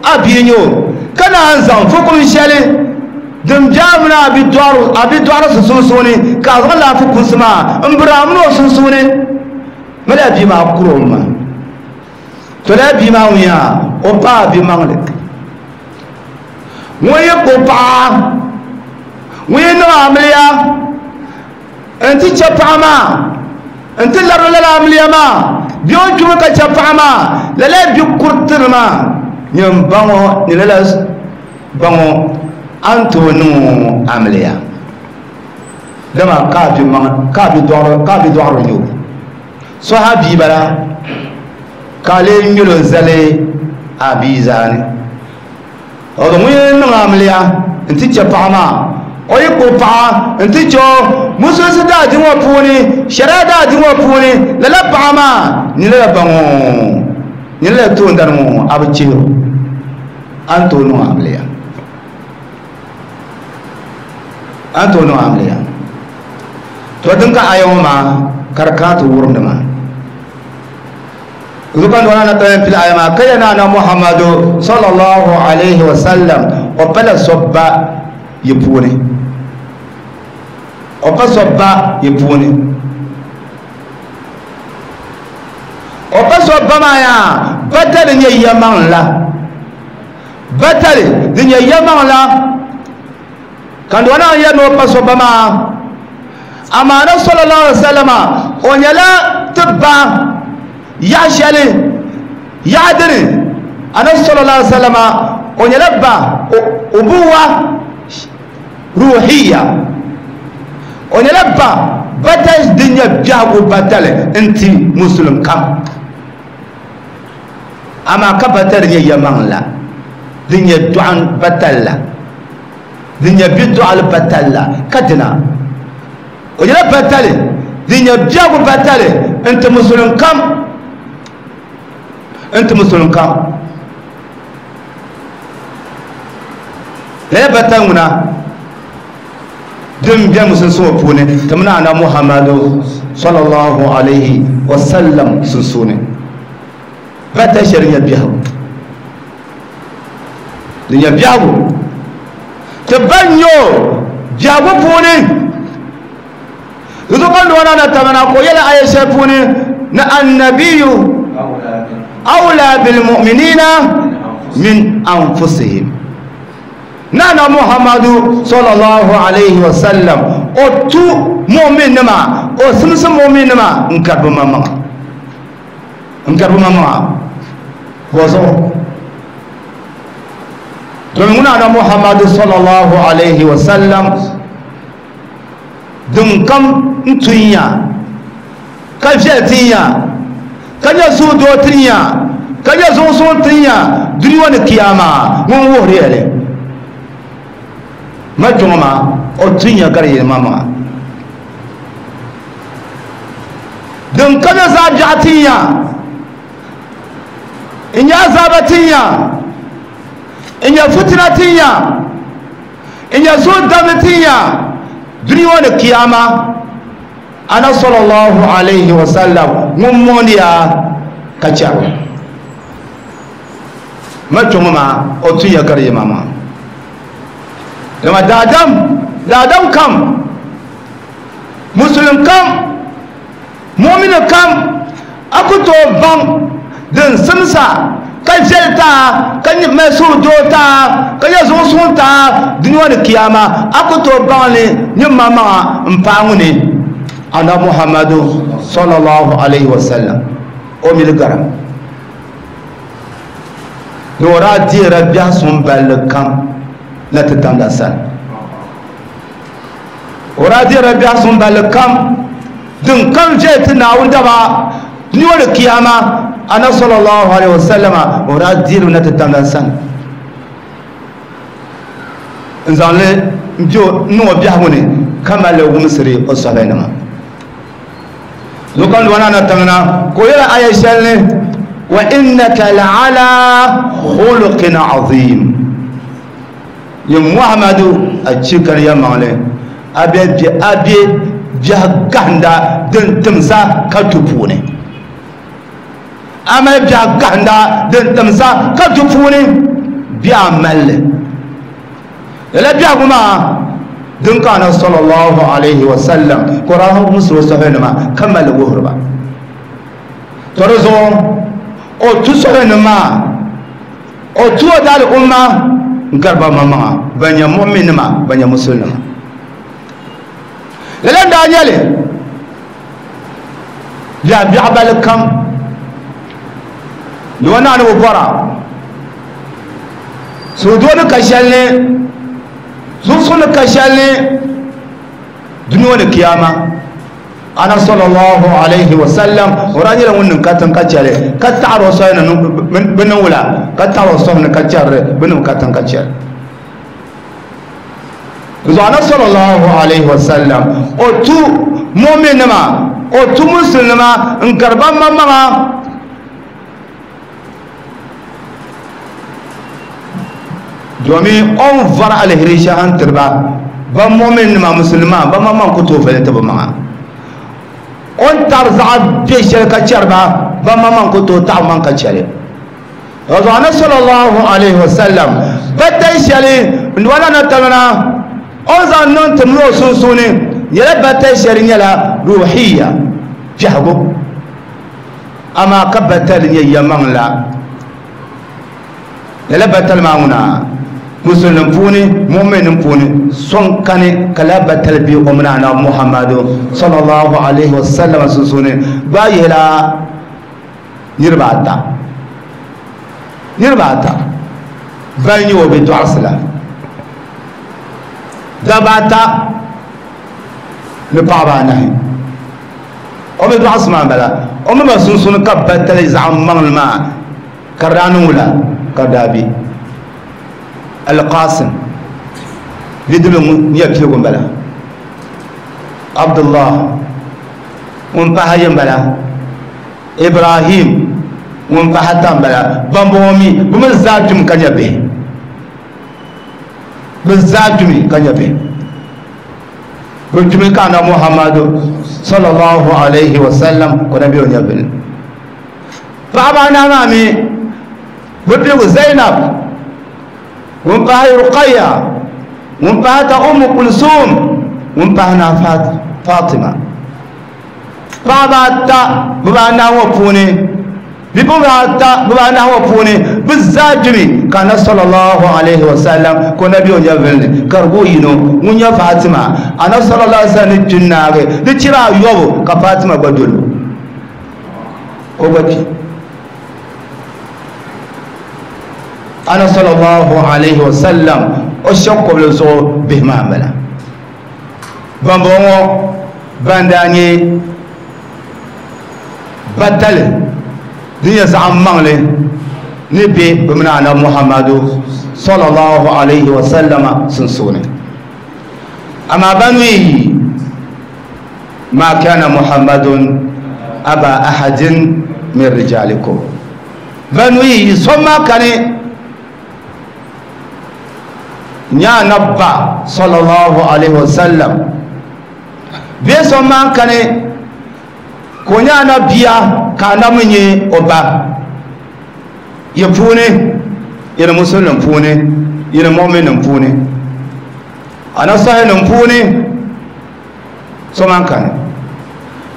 a bia nyɛ o ka naan zaŋ fukum shɛli din biɛɣu mini a bi dɔɣiri sunsuuni ka a zaŋ laɣafu kunsi maa n biri a mini o sunsuuni mali a bia maa kuri o ma to lala bia maa ŋun yaa o pa a bi maŋli ŋun yi kpo paɣa ŋun yi niŋ amiliya n ti chɛ paɣa maa n ti lari lala amiliya maa bia o kpimi ka chɛ paɣa maa lala bi kuritiri maa nyɛ baŋo ni lala baŋo an tooi niŋ amiliya dama ka bi maŋ ka bi dɔɣiri ka bi dɔɣiri nyɛ o so ha bia bala ka lee nyɛlo zali a bia zaani o ŋun yi niŋ amiliya n ti chɛ paɣa maa o yi kpo paɣa n ti chɛ o musulisi daa di ŋɔ puuni shari'a daa di ŋɔ puuni lala paɣa maa ni lala baŋo ni lala toondani ŋɔ a bi chihiro an tooi niŋ amiliya an tooi niŋ amiliya to din ka aya ŋɔ maa ka di kana ti wurimdi maa zukan dona na tayin fil aya maa ka yana na Muhammadu sallallahu alaihi wa sallam o pala sobba yi puuni o pa sobba yi puuni o pa sobba maa yaa batali nyɛ yɛmaŋ la batali di nyɛ yɛmaŋ la ka dona yɛ ni o pa sobba maa amaana sallallahu alaihi wa sallama o nyɛla ti ba yaɣa shɛli yaɣa dini anabi sallallahu alaihi wa sallama o nyɛla ba ubuwa ruhiya o nyɛla ba batali din nyɛ biɛhigu batali n ti musulum kam amaa ka batali nyɛ yɛmaŋ la din nyɛ dɔɣim batali la din nyɛ bidɔɣili batali la ka dina o nyɛla batali din nyɛ biɛhigu batali n ti musulum kam n ti musulum kam lala batali ŋuna din bɛ musulunsi ŋɔ puuni ti mini ana Muhammadu sallallahu alaihi wa sallam sunsuuni batali shɛli nyɛ biɛhigu din nyɛ biɛhigu ti ban nyɛ o biɛhigu puuni zuɣu ka nɔna na tamana ko yɛla aya shɛli puuni ni annabiyu awla bil mu'minina min anfusihim nana Muhammadu sallallahu alaihi wa sallam o tu mu'min nima o simsi mu'min nima n karibu mamaŋa n karibu mamaŋa bɔzuɣu domin ŋuna na Muhammadu sallallahu alaihi wa sallam din kam n tun ya ka viɛli tin ya ka nyɛ suhudoo tin ya ka nyɛ zuɣusuŋ tin ya duniya ni kiyama ŋun wuhiri ya li ma kpɛŋɔ maa o tun ya gari yɛlimaŋmaŋa din ka nyɛ zaɣ biɛɣu tin ya n nyɛ azaaba tin ya n nyɛ fitina tin ya n nyɛ suhudamli tin ya duniya ni kiyama ana sallallahu alaihi wa sallam ŋun mooniya ka chɛro ma kpɛŋɔ maa o tun ya gari yɛlimaŋmaŋa dama daadam daadam kam musulum kam mu'mini kam a ku tooi baŋ din simsa ka viɛli taa ka mali suhudoo taa ka nyɛ zuɣusuŋ taa duniya ni kiyama a ku tooi baŋ li nyɛ mamaŋa n paai ŋuni ana Muhammadu sallallahu alaihi wa sallam o mili gara ni o daa deera biɛhi suŋ balli kam na ti tamda sani o daa deera biɛhi suŋ balli kam din kam viɛli ti Naawuni daba duniya ni kiyama ana sallallahu alaihi wa sallama o daa deeri na ti tamda sani n zaŋ li n niŋ o biɛhigu ni ka mali li wumsiri o sɔhaba nima zuɣu ka wana na tiŋna ka o yɛla aya shɛli ni wa innaka la ala khuluqin azim yin Muhammadu a chikari ya maŋli a bɛ a bɛ biɛhi gahinda din timsa ka du puuni a mali biɛhi gahinda din timsa ka du puuni biɛhi malli Lala biɛhigu maa din ka ana sallallahu alaihi wasallam Qur'an musu sahinima kamal wuhurba to rizo o tu sahinima o tu dal umma garba mama banya mu'minima banya muslima lala da nyale ya bi'abal kam wana ni bora so dole ka shalle zusun ka shalle duniya da kiyama ana sallallahu alaihi wasallam oranyira wannan katan kacare ka ta'aro sai nan bin wula ka ta'aro sai nan kacare bin katan kacare zo ana sallallahu alaihi wasallam o tu mu'minima o tu muslima in karban mamma domin on var alheri shahan turba ban mu'min ma musulma ban mamman ku tofa ta ba ma on tar za be shirka charba ban mamman ku to ta man ka chare razana sallallahu alaihi wasallam batai shari wala na tamana on za non tumlo sun sune yala batai shari yala ruhiyya jahgo amma kabatal yamman la yala batal mauna musulun puni mu'minin puni son kane kala batal bi umna na muhammadu sallallahu alaihi wasallam sun sune ba yela nirbata nirbata ban yi obi du'asla dabata ni paɣaba anahi o bi dɔɣisi maa bala o mi ba sunsuuni ka batali zaɣ maŋli maa ka daa niŋ wula ka daa bi alqasim bidibili ŋun nyɛ piligu n bala abdullah ŋun pahi ayi n bala ibrahim ŋun pahi ata n bala bambɔŋɔ mi bi mi zaa kpimi ka nyɛ bihi bi zaa kpimi ka nyɛ bihi bi kpimi ka na muhammadu sallallahu alaihi wasallam ko na bi o nyɛ bini paɣaba anahi maa mi bi piligu zainab ŋun pahi ruqaya ŋun pahi ta umu kulsum ŋun pahi na fatima paɣaba ata bibaanahi ŋɔ puuni bipuɣunsi ata bibaanahi ŋɔ puuni bi zaa kpimi ka na sallallahu alaihi wasallam ko na bi o nyɛ villi ka di gu yino ŋun nyɛ fatima ana sallallahu alaihi wasallam ni kpi naagi di chira ayɔbu ka fatima gba dolo o gba kpi ana sallallahu alaihi wasallam o shɛbi kɔbili zuɣu bihi maa n bala bambɔŋɔ ban daa nyɛ batali din nyɛ zaɣ maŋli ni be bi mini anabi muhammadu sallallahu alaihi wasallama sunsuuni amma banu yi ma kana muhammadun aba ahadin min rijalikum banu yi so ma kani nya nabba sallallahu alaihi wasallam be so ma kani ko nya na biya ka na munye oba ya pune ina musulun pune ina mu'minin pune ana sahilin pune so man kani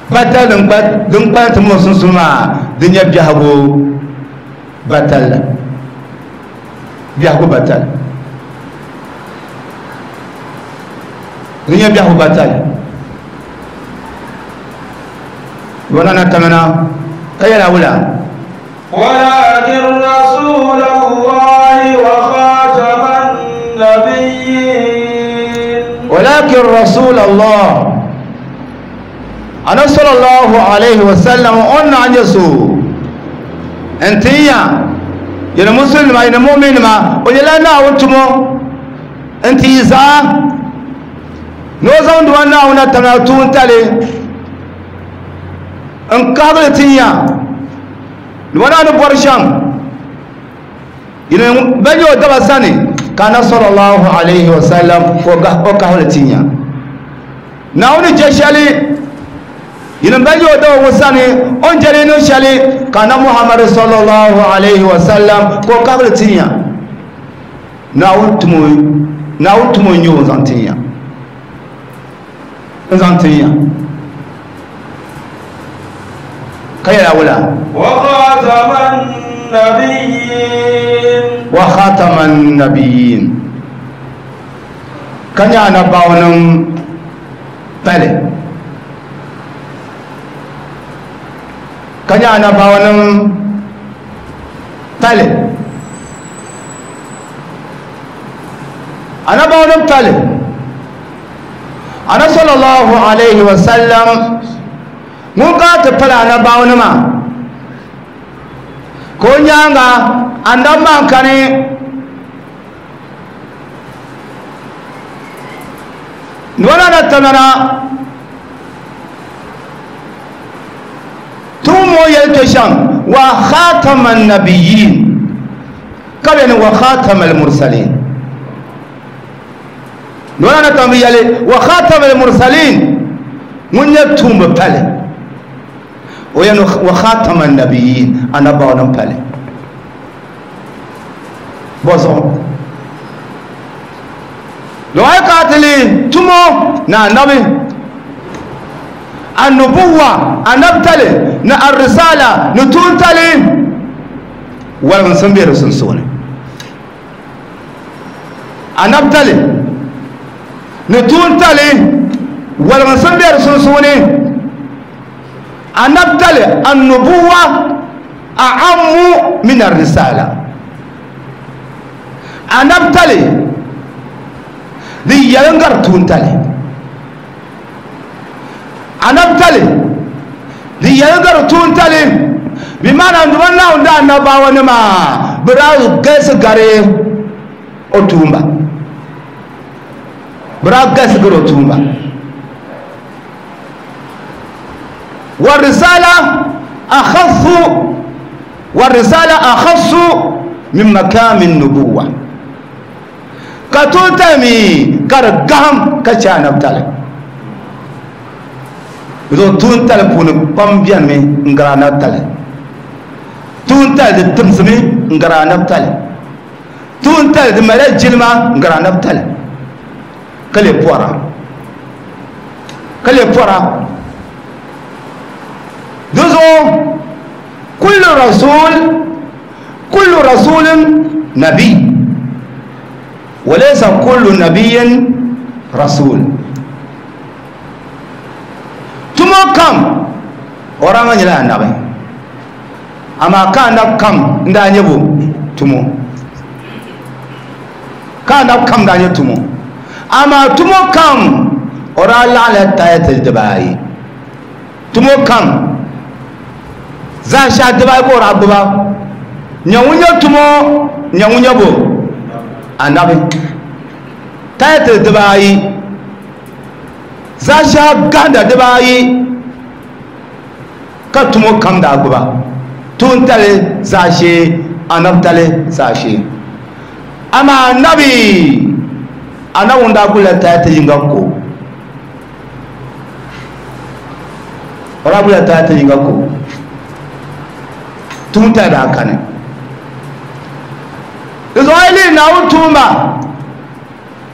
batalin din kwanta musun suma din ya biya go batal biya go batal din ya biya go batal wala na tamana kayala wula ولكن رسول الله وخاتم النبيين ولكن رسول الله أنا صلى الله عليه وسلم أن عن يسوع أنت يا يا مسلم يا مؤمن ما ولا نا وتمو أنت إذا نوزون دوانا ونتنا تونتالي n kahigili ti nya wana ni bɔri shɛm ban nyɛ o daba sani ka na sallallahu alaihi wasallam o kahigili ti nya naawuni jɛ shɛli yini ban nyɛ o daba ŋɔ sani o ni jɛli niŋ shɛli ka na muhammadu sallallahu alaihi wasallam ka o kahigili ti nya naawuni tumo Naawuni tumo n-nyɛ o n-zaŋ tin ya n-zaŋ tin ya ka yɛla wula وخاتم النبيين وخاتم النبيين ka nyɛ anabaawanim pali ka nyɛ anabaawanim pali anabaawanim pali ana sallallahu alaihi wasallam ŋun ka ti pali anabaawanima ka o nyaanga annabi maa kani nona na tamana tumo yelto sham wa khataman nabiyyin kabeni wa khatamal mursalin nona na tam yele wa khatamal mursalin mun ya tumba pale o yan wa khataman nabiyyin anaba wannan pale bozo lo ay katili tumo na nabi annubuwa anabtale na arrisala nutuntale wala sun be sun sone anabtale nutuntale wala sun be sun sone anabtale annubuwa a'ammu min arrisala anabtale di yalangar tuntale anabtale di yalangar tuntale bi mana nduma nda annabawa ne ma bra gese gare otumba bra gese gare otumba wa risala akhaffu wa risala akhassu min makam an-nubuwah ka tuntami kar gam ka cha anabtale do tuntale puni pam bianmi ngara anabtale tuntale de timsimi ngara anabtale tuntale de mala jilma ngara anabtale kale pora kale pora dozo kullu rasul kullu rasulin nabi وليس كل نبي رسول tumo kam oranga nyila annabi ama ka na kam nda nyebo tumo ka na kam nda nye tumo ama tumo kam ora la la tayatul dubai tumo kam za sha dubai ko rabuba nyawunyo tumo nyawunyo bo annabi tayatul dubai za sha ganda dubai ka tumo kam da guba tun tale za she annab tale za she ama annabi anawun da gula tayatul yinga ko rabula tayatul yinga ko tun ta da kane Israeli na utumba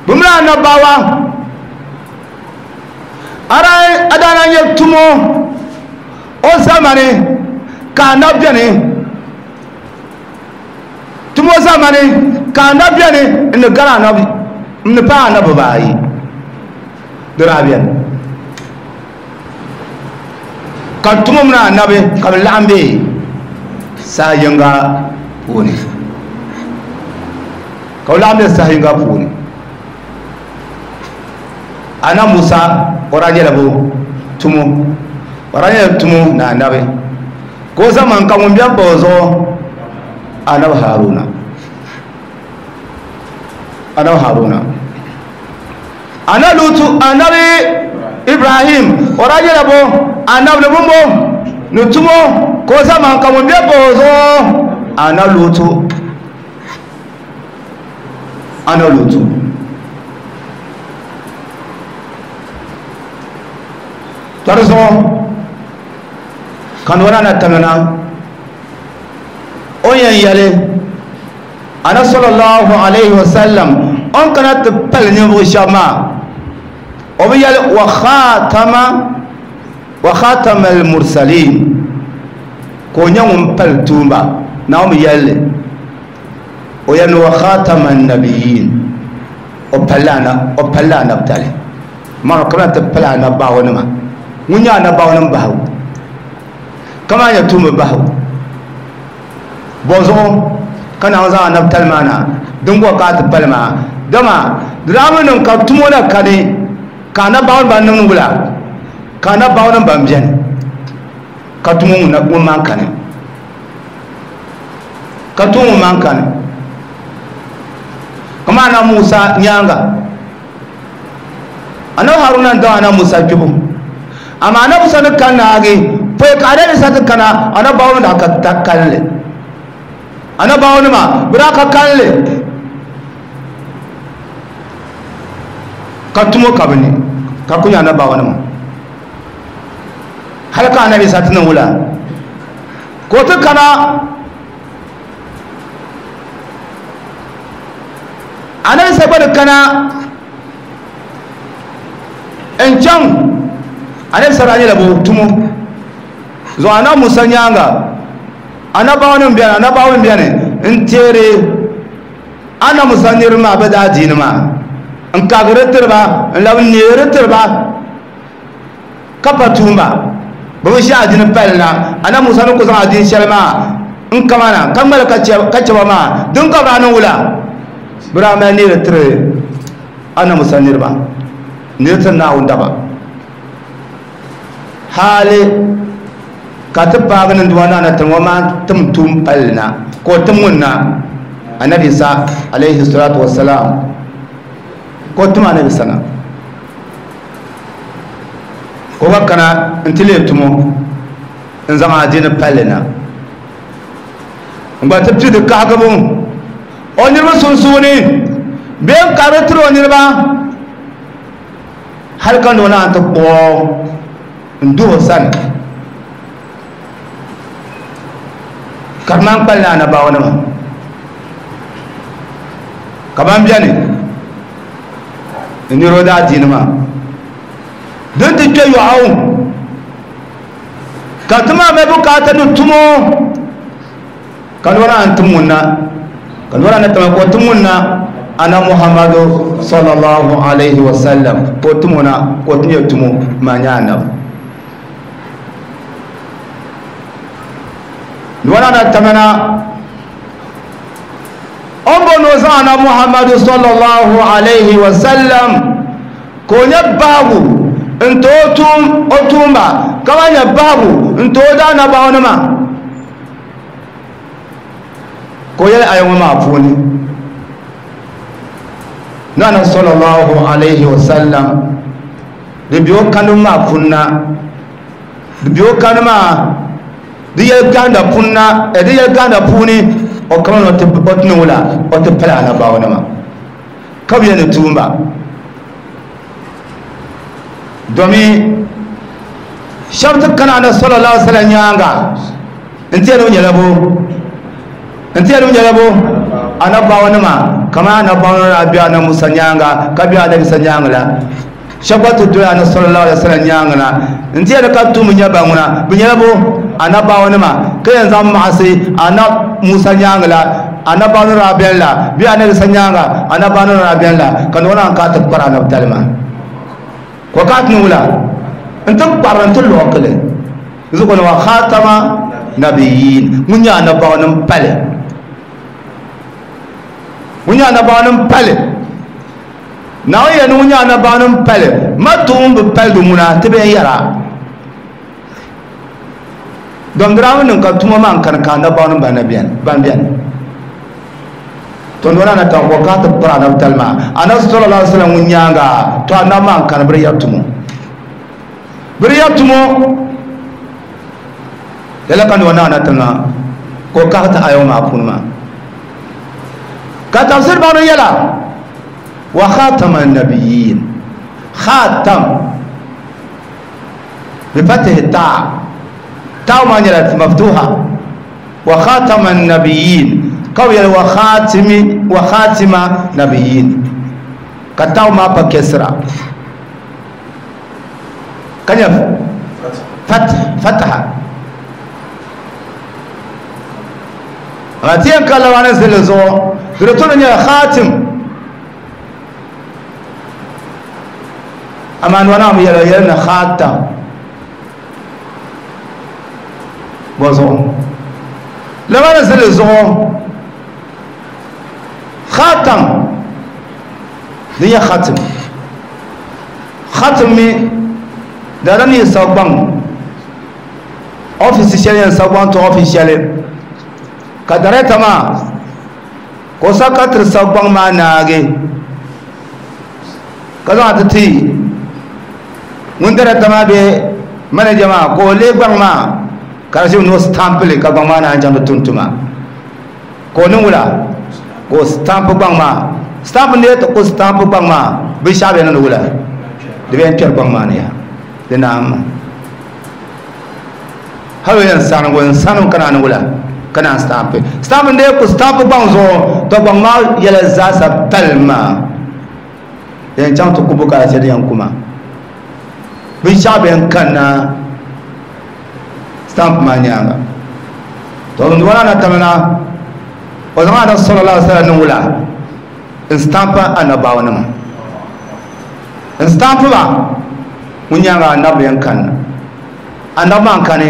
bumla annabawa ara adana nye tumo o zamani ka annabiani tumo zamani ka annabiani ni gara annabi ni pa annabi bayi dirabian ka tumo mna annabi ka lambe sa yanga woni ka lambe sa yanga puuni ana Musa oraje labo tumo oraje tumo na annabi ko zaman kan mun biyan bozo annabi Haruna annabi Haruna ana Lutu annabi Ibrahim oraje labo annabi bumbo nutumo ko zaman kan mun biyan bozo ana Lutu ana Lutu tarzo kan wana na tamana oyan yale ana sallallahu alaihi wasallam o ni kana ti pali ninvuɣu shɛba maa o bi yɛli wa khatama wa khatama al-mursalin ka o nyɛ ŋun pali tuumba Naawuni bi yɛli li o yɛli ni wa khatama an-nabiyyin o palila o palila anabitali maa kamina ti pali anabaawanima ŋun nyɛ anabaawanim bahigu kama nyɛ tuumba bahigu bɔzuɣu ka Naawuni zaŋ anabitali maa na din bɔ ka a ti pali maa dama di daa mi niŋ ka tumo na kani ka anabaawanim ban niŋ wula ka anabaawanim ban beni ka tumo ŋun maan kani ka tumo ŋun maan kani kama ana Musa nyaanga anabi Haruna n daŋ ana Musa kpibu amma ana Musa ni kan naagi pɔi ka anabi Isa ti kana anabaawanim daa ka ta kalinli anabaawanima bi daa ka kalinli ka tumo ka bi ni ka ku nyɛ anabaawanima hali ka anabi Isa ti niŋ wula ka o ti kana anabi Isa gba ni kana n chaŋ anabi Isa daa nyɛla bo tumo zuɣu ana Musa nyaanga anabaawanim beni anabaawanim beni n teeri ana Musa niriba maa bi daa diini maa n kagiri tiriba n labi neeri tiriba ka pa tuumba bi bi ʒi adiini pali na ana Musa ni ku zaŋ adiini shɛli maa n kama na ka ŋmali ka chɛba maa din ka bi daa niŋ wula bi daa mali neeri tiri ana Musa niriba neeri tiri Naawuni daba hali ka ti paagi ninduma na na tiŋ ŋɔ maa tim tuum palli na ka o tim ŋun na anabi Isa alayhi salatu wassalam ka o tim anabi Isa na ka o gba kana n ti leei tumo n zaŋ adiini palli na n gba ti pii di kahigibu o niriba sunsuuni bee n karili tiri o niriba hali ka ni o naan ti kpuɣi n duhi o sani ka di maan kpalila anabaawanima ka ban beni n niri o daadiini maa din ti kpe yɔɣu ka ti maa mali bukaata ni tumo ka ni o naan tim ŋun na ka ni o naan tama ka o tim ŋun na ana Muhammadu sallallahu alayhi wa sallam ka o tim o na ka o ti nyɛ tumo maa nyɛ anabi wala na tamana ombo no zaŋ Muhammadu sallallahu alayhi wa sallam ko nyɛ babu n to tum o tumba ka ba nyɛ babu n to da anabaawanima ko yɛli aya ŋɔ maa puuni nana sallallahu alayhi wa sallam di bɛ o kanu maa puuni na di bɛ o kanu maa di yɛli ganda punna di yɛli ganda puuni o kama na o ti niŋ wula o ti pali anabaawanima ka bi yɛli ni tuumba domi shɛba ti kana ana sallallahu alaihi wa sallam nyaanga n ti yɛli o nyɛla bo n ti yɛli o nyɛla bo anabaawanima kama anabaawanima daa bɛ ana Musa nyaanga ka bɛ anabi Isa nyaanga la shɛba gba ti doli ana sallallahu alaihi wa sallam nyaanga na n ti yɛli ka tuumi nyɛ ba ŋuna bi nyɛla bo anabaawanima ka yɛn zaŋ maɣasi ana Musa nyaanga la anabaawanima daa beni la bee anabi Isa nyaanga anabaawanima daa beni la ka ni o naan ka ti kpari anabitali maa ko ka ti niŋ wula n ti kpari n ti luɣukili zuɣu ni wa khatama nabiyyin ŋun nyɛ anabaawanim pali ŋun nyɛ anabaawanim pali Naawuni yɛli ni ŋun nyɛ anabaawanim pali ma tuum bi pali di ŋuna ti bɛn yɛra dom di daa mi niŋ ka tuma maa n kani ka anabaawanim ban beni ban beni to nona na tan ko ka ti kpari anabitali maa anabi sallallahu alaihi wasallam ŋun nyaanga to anabi maa n kani biri yɛri tumo biri yɛri tumo lala ka ni o naana tiŋa ka o kahi ti aya ŋɔ maa puuni maa ka tafsir baŋdi yɛla wa khatama an-nabiyyin khatam bi fatihi taa taa maa nyɛla maftuha wa khatama an-nabiyyin ka bi yɛli wa khatimi wa khatima nabiyyin Ka taw maa pa kesra ka nyɛ fataha amma ti yɛn ka labaani zilli zuɣu di di tuni nyɛla khatim amma ni wana mi yɛla yɛli ni khatam bɔ zuɣu labaani zilli zuɣu khatam din nyɛ khatim khatim mi daadam yi sagbaŋ ɔfisi shɛli yɛn sagbaŋ ti ɔfisi shɛli ka dareta maa ka o sa ka tiri sagbaŋ maa naagi ka zaŋ ti ti ŋun dareta maa bee manaja maa ka o lee gbaŋ maa ka di ʒimi ni o stampili ka gbaŋ maa naan chaŋ ti tum tuma ka o niŋ wula ka o stampi gbaŋ maa stamp n ti ku stampi gbaŋ maa binshaɣu bɛ niŋdi wula di bɛ yɛn kpɛri gbaŋ maa ni ya di naam hali o yɛn sanigu n sani ka naan wula ka naan stampi stamp n ku stampi gbaŋ zuɣu to gbaŋ maa yɛla zaasa pali maa di yɛn chaŋ ti ku bukaata di yɛn kuma binshaɣu bɛ yɛn kanna stamp maa nyaanga to n wana na tamina o zaŋ ana sallallahu alaihi wasallam niŋ wula n stampa annabawanima n stampi ba ŋun nyaanga annabi yɛn kanna annabi maa n kani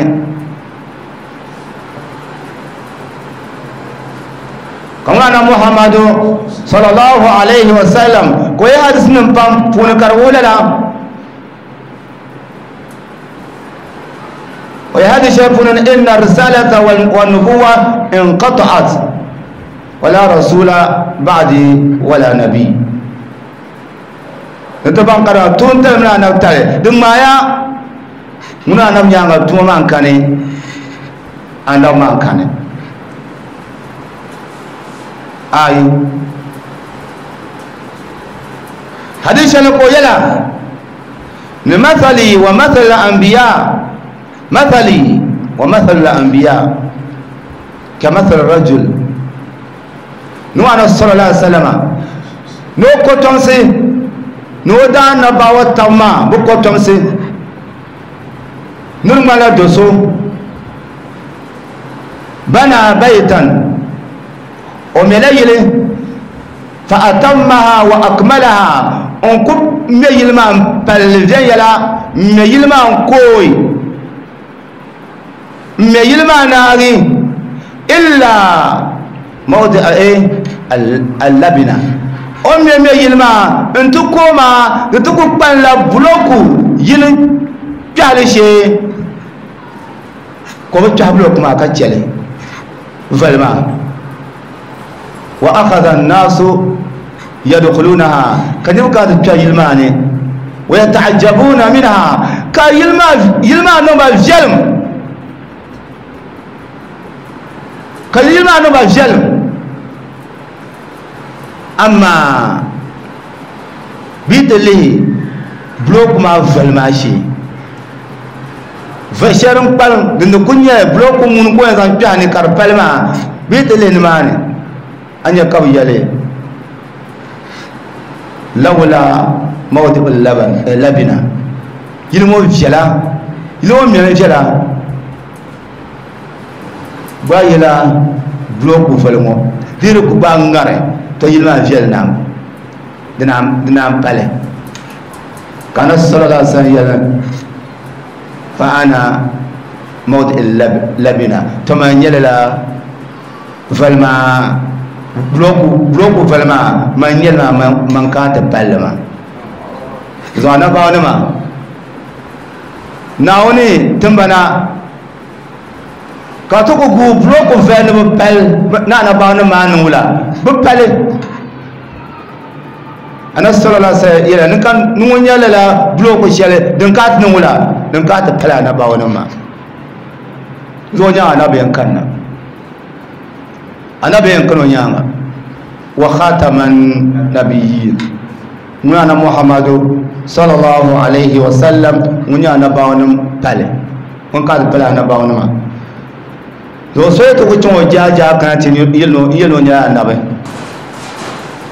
ka ŋun ana Muhammadu sallallahu alaihi wasallam ko ye hadis nim pam puuni ka di wuhi lala o ye hadis shɛli puuni ni inna risalata wannubuwa inqata'at wala rasula ba'di wala nabi ni ti baŋ ka di tuuntali mini anabi tali di ŋmaaya ŋuni anabi nyaanga tuma maa n kani anabi maa n kani ayi hadis shɛli ka o yɛla ni mathali wa mathali al-anbiya mathali wa mathali al-anbiya ka mathali rajul ni ana sallallahu alaihi wasallam ni o kotomsi ni o daa annabawa tab maa bi kotomsi ni di ŋmanila do so bana baytan o mɛla yili fa atammaha wa akmalaha n ku mɛ yili maa n palli viɛnyɛla n mɛ yili maa n kooi n mɛ yili maa naagi illa mawdi'a allabina o mɛ mɛ yili maa n ti kooi maa di ti ku kpanila buloku yili kpɛhili shee ka o bi kpɛhi buloku maa ka chɛli vali maa wa akhadha an-nasu yadkhulunaha ka niriba kana ti kpɛri yili maa ni wa yata'ajjabuna minha ka yili maa yili maa niŋ ba viɛlim ka yili maa niŋ ba viɛlim amma bi ti lihi buloku maa vali maa shee va shɛli n kpalim din di ku nyɛ buloku ŋuni ka o yɛn zaŋ kpɛhi ni ka di pali maa bi ti lihi nimaani a nyɛ ka bi yɛli lawla mawdi'u labina yili ŋɔ viɛla yili ŋɔ mɛmi viɛla gba yɛla buloku vali ŋɔ di di ku gba ŋari to yili maa viɛli naam di naan pali ka anabi sallallahu alaihi wasallam yɛli fa ana mawdi'u labina to man nyɛla la vali maa buloku buloku vali maa man nyɛli maa man kana ti palli maa zuɣu annabawanima Naawuni timbana ka ti ku guui buloku vali ni bi pali ni annabawanima maa niŋ wula bi pali anabi sallallahu alaihi wasallam yɛla ni ka ni ŋun nyɛ lala buloku shɛli din ka ti niŋ wula din ka ti pali annabawanima maa zuɣu nyaanga anabi yɛn kanna anabi yɛn kani o nyaanga wa khataman nabiyyin ŋun ana Muhammadu sallallahu alaihi wasallam ŋun nyɛ annabawanim pali ŋun ka ti pali annabawanima zuɣu so yi ti ku chaŋ o jaajaa kana ti yɛli o nyɛla annabi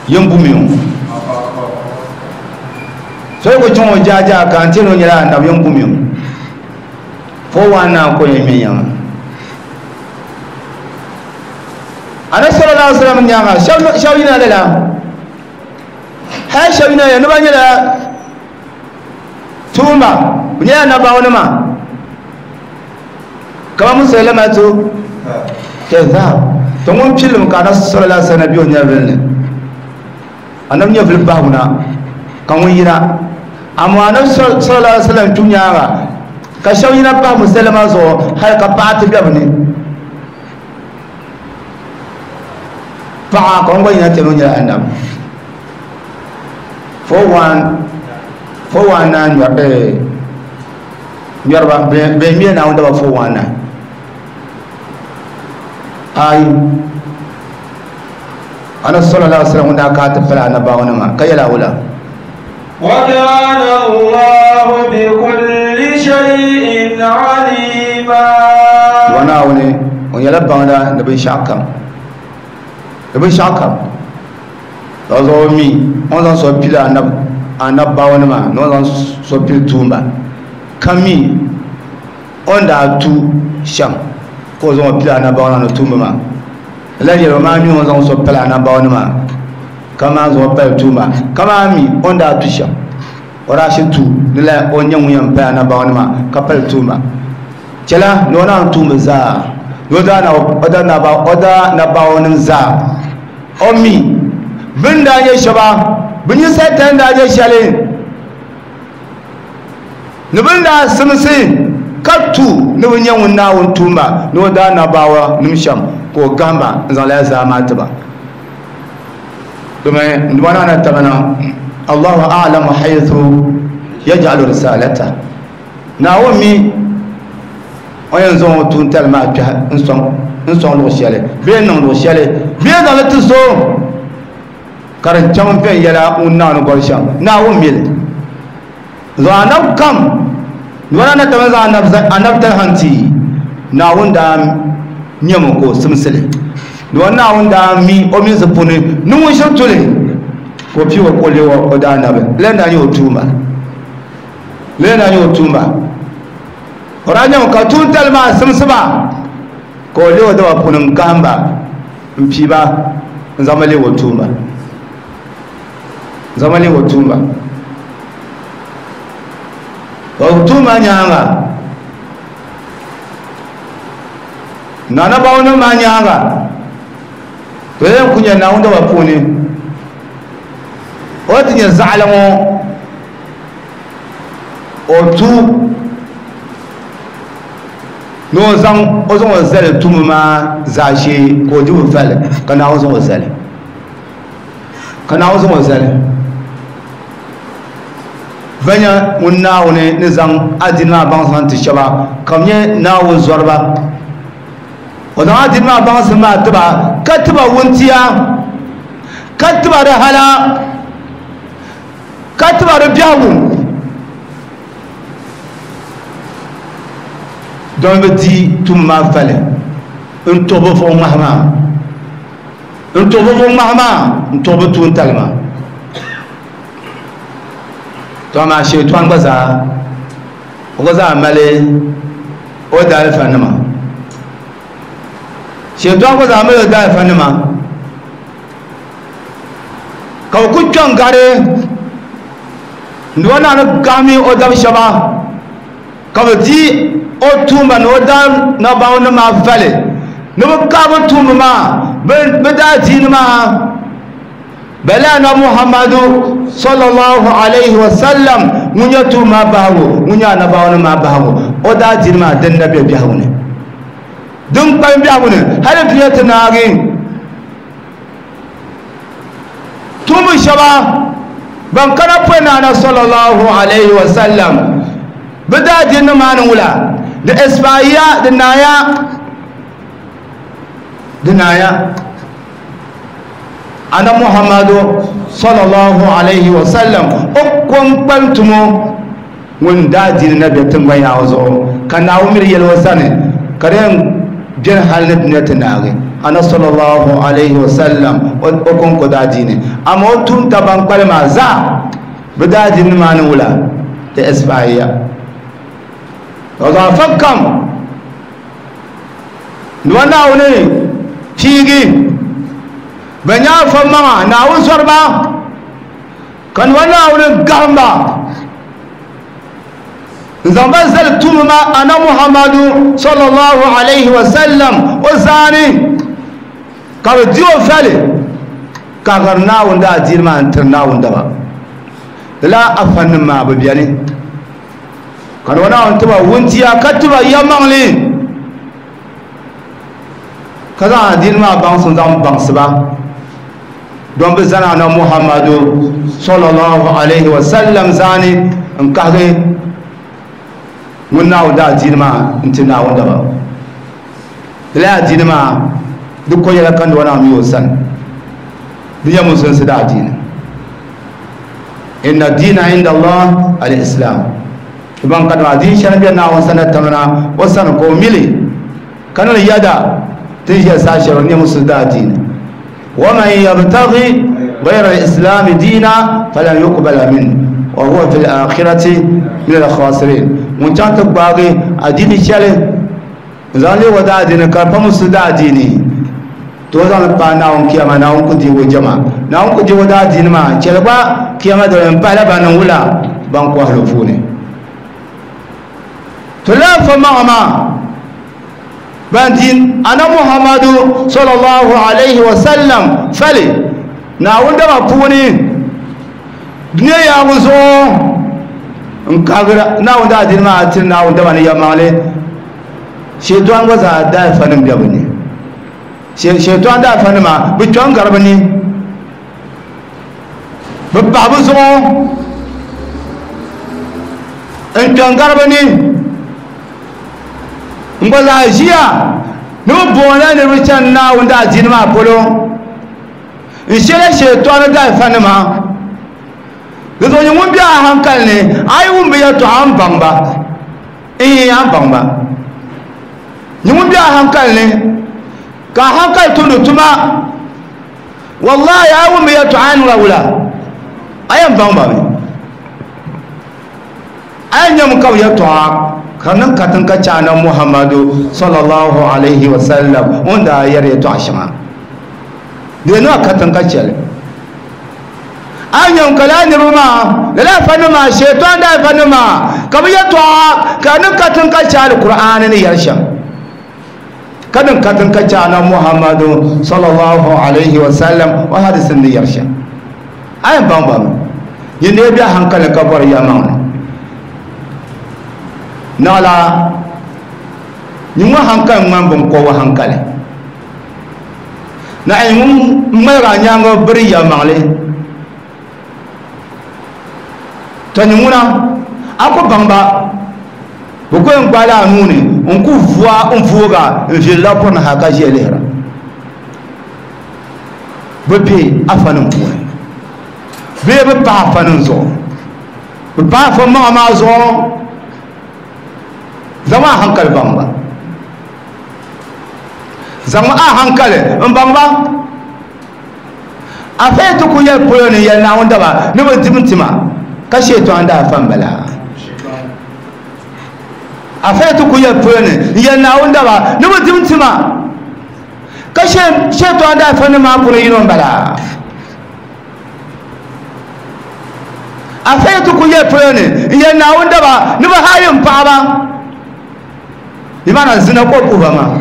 yin bumi o So ko chaŋ o jaajaa ka n ti o nyɛla annabi n gumi o four one nine ko yɛn ŋmɛ nyɛma ana sallallahu alaihi wasallam nyaaŋa shɛba yina lala hali shɛba yina ni ba nyɛla tuumba bɛ nyɛla annabawanima kama Musaylamatu kadhab to ŋun pilimi ka ana sallallahu alaihi wasallam bɛ o nyɛvili ni annabi nyɛvili bahiguna ka ŋun yina amma anabi sallallahu alaihi wasallam tu nyaaŋa ka shɛba yina pahi Musaylama zuɣu hali ka paɣa ti be bɛ ni paɣa ka ŋun gba yina ti o nyɛla annabi four one four one nine ŋmɛriba bɛn ŋmɛ Naawuni daba four one nine ayi ana sallallahu alaihi wasallam ŋun daa kana ti pali annabawanima ka yɛla wula وكان الله بكل شيء عليما وناوني ونيلا باندا نبي شاكم نبي شاكم لازومي on so pila anab anabawanima no zan so pil tumba kami on da tu sham ko zo pila anabawana no tumba ma la yelo ma mi on zan so pila anabawanima kama zo pal tuma kama mi on da tusha ora shi tu ni la o nyen ŋun pa na bawo ma ka pal tuma chela no na tuma za no da na oda na ba oda na bawo nim za o mi bin da nye shaba bin yi satan da nye shale ni bin da simsi ka tu ni bin nyen ŋun na wun tuma no da na bawo nim sham ko gamba zan la za ma tiba domin wana tamana Allahu a'lamu haythu yaj'alu risalata Naomi o yɛn zaŋ o tuuntali maa kpɛhi n sɔŋ n sɔŋ luɣu shɛli bee n niŋ luɣu shɛli bee zaŋli ti so ka di chaŋ viɛnyɛla ŋun naani gɔli shɛm Naawuni mi li zuɣu anabi kam wana na tama zaŋ anabitali hanti Naawuni daa nyɛmi ka o simsili do Naawuni daa mi o mini zipuni ni ŋun shiri tuli ka o pii o ka o leei o daa nabi lɛn daa nyɛ o tuumba lɛn daa nyɛ o tuumba o daa nyɛmi ka tuuntali maa simsiba ka o leei o daba puuni n gahimba n piiba n zaŋba leei o tuumba n zaŋba leei o tuumba o tuumba nyaaŋa nanabawanima maa nyaaŋa to yɛn ku nyɛ Naawuni daba puuni o ti nyɛ zaɣali ŋɔ o tu ni o zaŋ o zaŋ o zali tumu maa zaashee ka o di o fali ka Naawuni zaŋ o zali ka Naawuni zaŋ o zali banya ŋun Naawuni ni zaŋ adiini maa baŋsim ti shɛba ka bi nyɛ Naawuni zɔriba o zaŋ adiini maa baŋsim maa tiba ka tiba wuntia ka tiba di hala ka tiba di biɛhigu don bi di tum maa fali n tuɣi bi vuɣu ŋmahi maa n tuɣi bi vuɣu ŋmahi maa n tuɣi bi tuuntali maa to amaa sheetɔn gba zaa o gba zaa mali o daalifa nima sheetɔn gba zaa mali o daalifa nima ka bi ku kpɛŋ gari ni o naani gahami o dabi shɛba ka bi di o tuumba ni o daa nabawo ni maa fali ni bi kahi bi tuumba maa bi daa diini maa bala na Muhammadu sallallahu alaihi wasallam ŋun nyɛ tuumba maa bahigu ŋun nyɛ anabawo ni maa bahigu o daa diini maa din na bɛ biɛhigu ni din kpalim biɛhigu ni hali dunia ti naagi tuumba shɛba ban kana pɔi naana sallallahu alaihi wasallam bi daa diini maa ni wula di isfaiya di naaya di naaya ana Muhammadu sallallahu alaihi wasallam o kom kpalim tumo ŋun daa diini na bɛ tiŋgbani yaɣa zuɣu ka Naawuni miri yɛli o sani ka di yɛn bɛni hali ni dunia ti naagi ana sallallahu alaihi wasallam o konko daa diini amaa o tuunta ban kpalim maa zaa Bɛ daa di nimaani wula di expire ka afa kam ni wa Naawuni piigi bɛ nyɛ afa maŋa Naawuni zɔriba ka ni wa Naawuni gahimba n zaŋ ba zali tuumi ma ana Muhammadu sallallahu alayhi wa sallam o zaani ka bɛ di o fali ka gari Naawuni daa diini maa n tiri Naawuni daba la afanim maa bi beni ka ni wa Naawuni tiba wuntia ka tiba yɛlimaŋli ka zaŋ adiini maa baŋsim zaŋ baŋsi ba don bi zani ana Muhammadu sallallahu alayhi wa sallam zaani n kahigi ŋun Naawuni daa diini maa n ti Naawuni daba la adiini maa di ko yɛla ka ni wa Naawuni mi o sani di nyɛ musulinsi daa diini inna diina inda Allah al-islam ban ka ma din shɛli bɛ Naawuni sani tamna o sani ko mili ka ni yada tin ʒiya saa shɛli nyɛ musulin daa diini wa man yabtaghi ghayra al-islam diina falan yuqbala minhu wa huwa fi al-akhirati min al-khasirin ŋun chaŋ ti gbaagi adiini shɛli n zaŋ leei o daa diini ka di pa musulin daa diini to o zaŋli paai Naawuni kiyama Naawuni ku deegi o jɛma Naawuni ku deegi o daa diini maa chɛli gba kiyama dali n pahila ban niŋ wula ban kɔhili puuni to laa fa maŋa maa ban din ana Muhammadu sallallahu alayhi wa sallam fali Naawuni daba puuni dunia yaagu zuɣu n kagira Naawuni daa diini maa tiri Naawuni daba ni yɛlimaŋli shɛtɔn gba zaa daa fa nim bɛ bi ni shɛtɔn daa fa nima bi kpɛm gari bi ni bi paɣa bi zuɣu n kpɛm gari bi ni n gba zaa ʒiya ni bi booni niriba chani Naawuni daa diini maa polo n shɛla shɛtɔni daa fa nima di zuɣu nyɛ ŋun bɛ a hankali ni a yi wum bi yɛltɔɣa n baŋ ba n a baŋ ba nyɛ ŋun bɛ a hankali ni ka a hankali tumdi tuma wallahi a yi wum bi yɛltɔɣa a niŋla wula a yɛn baŋ ba mi a yɛn nyɛmi ka bi yɛltɔɣa ka niŋ katiŋ ka chɛ ana Muhammadu sallallahu alayhi wa sallam ŋun daa yɛri yɛltɔɣa shɛŋa di niŋ katiŋ ka chɛli a nyɛm ka laa niriba maa lala afa nim maa shɛtɔn daa afa nim maa ka bi yɛltɔɣa ka niŋ katiŋ ka chɛ Alkur'aani ni yɛli shɛm ka niŋ katiŋ ka chɛ ana Muhammadu sallallahu alayhi wa sallam o hadisin ni yɛli shɛm a yɛn baŋ ba mi yin dee bɛ hankali ka bɔri yɛlimaŋli naɣila nyɛ ŋun hankali ŋmani binkɔbigu hankali na ŋun ŋmaligi a nyaanga biri yɛlimaŋli to nyɛ ŋuna a ku baŋ ba bi ku yɛn gbaala a nuu ni n ku vua n vuuga n viɛlila pɔri ni ha ka ʒiya lihira bi bɛ afa nim puuni bee bi paɣa afa nim zuɣu bi paɣa afa maŋa maa zuɣu zaŋ a hankali baŋ ba zaŋ a hankali n baŋ ba a fɛn ti ku yɛli polo ni yɛli Naawuni daba ni bi dim tima ka shɛtɔn daa fa n bala a fɛn ti ku yɛli polo ni yɛli Naawuni daba ni bi dim tima ka shɛtɔn daa fa ni maa puuni yino n bala a fɛn ti ku yɛli polo ni yɛli Naawuni daba ni bi haayi n paɣaba bimana zina ko puhi ba maa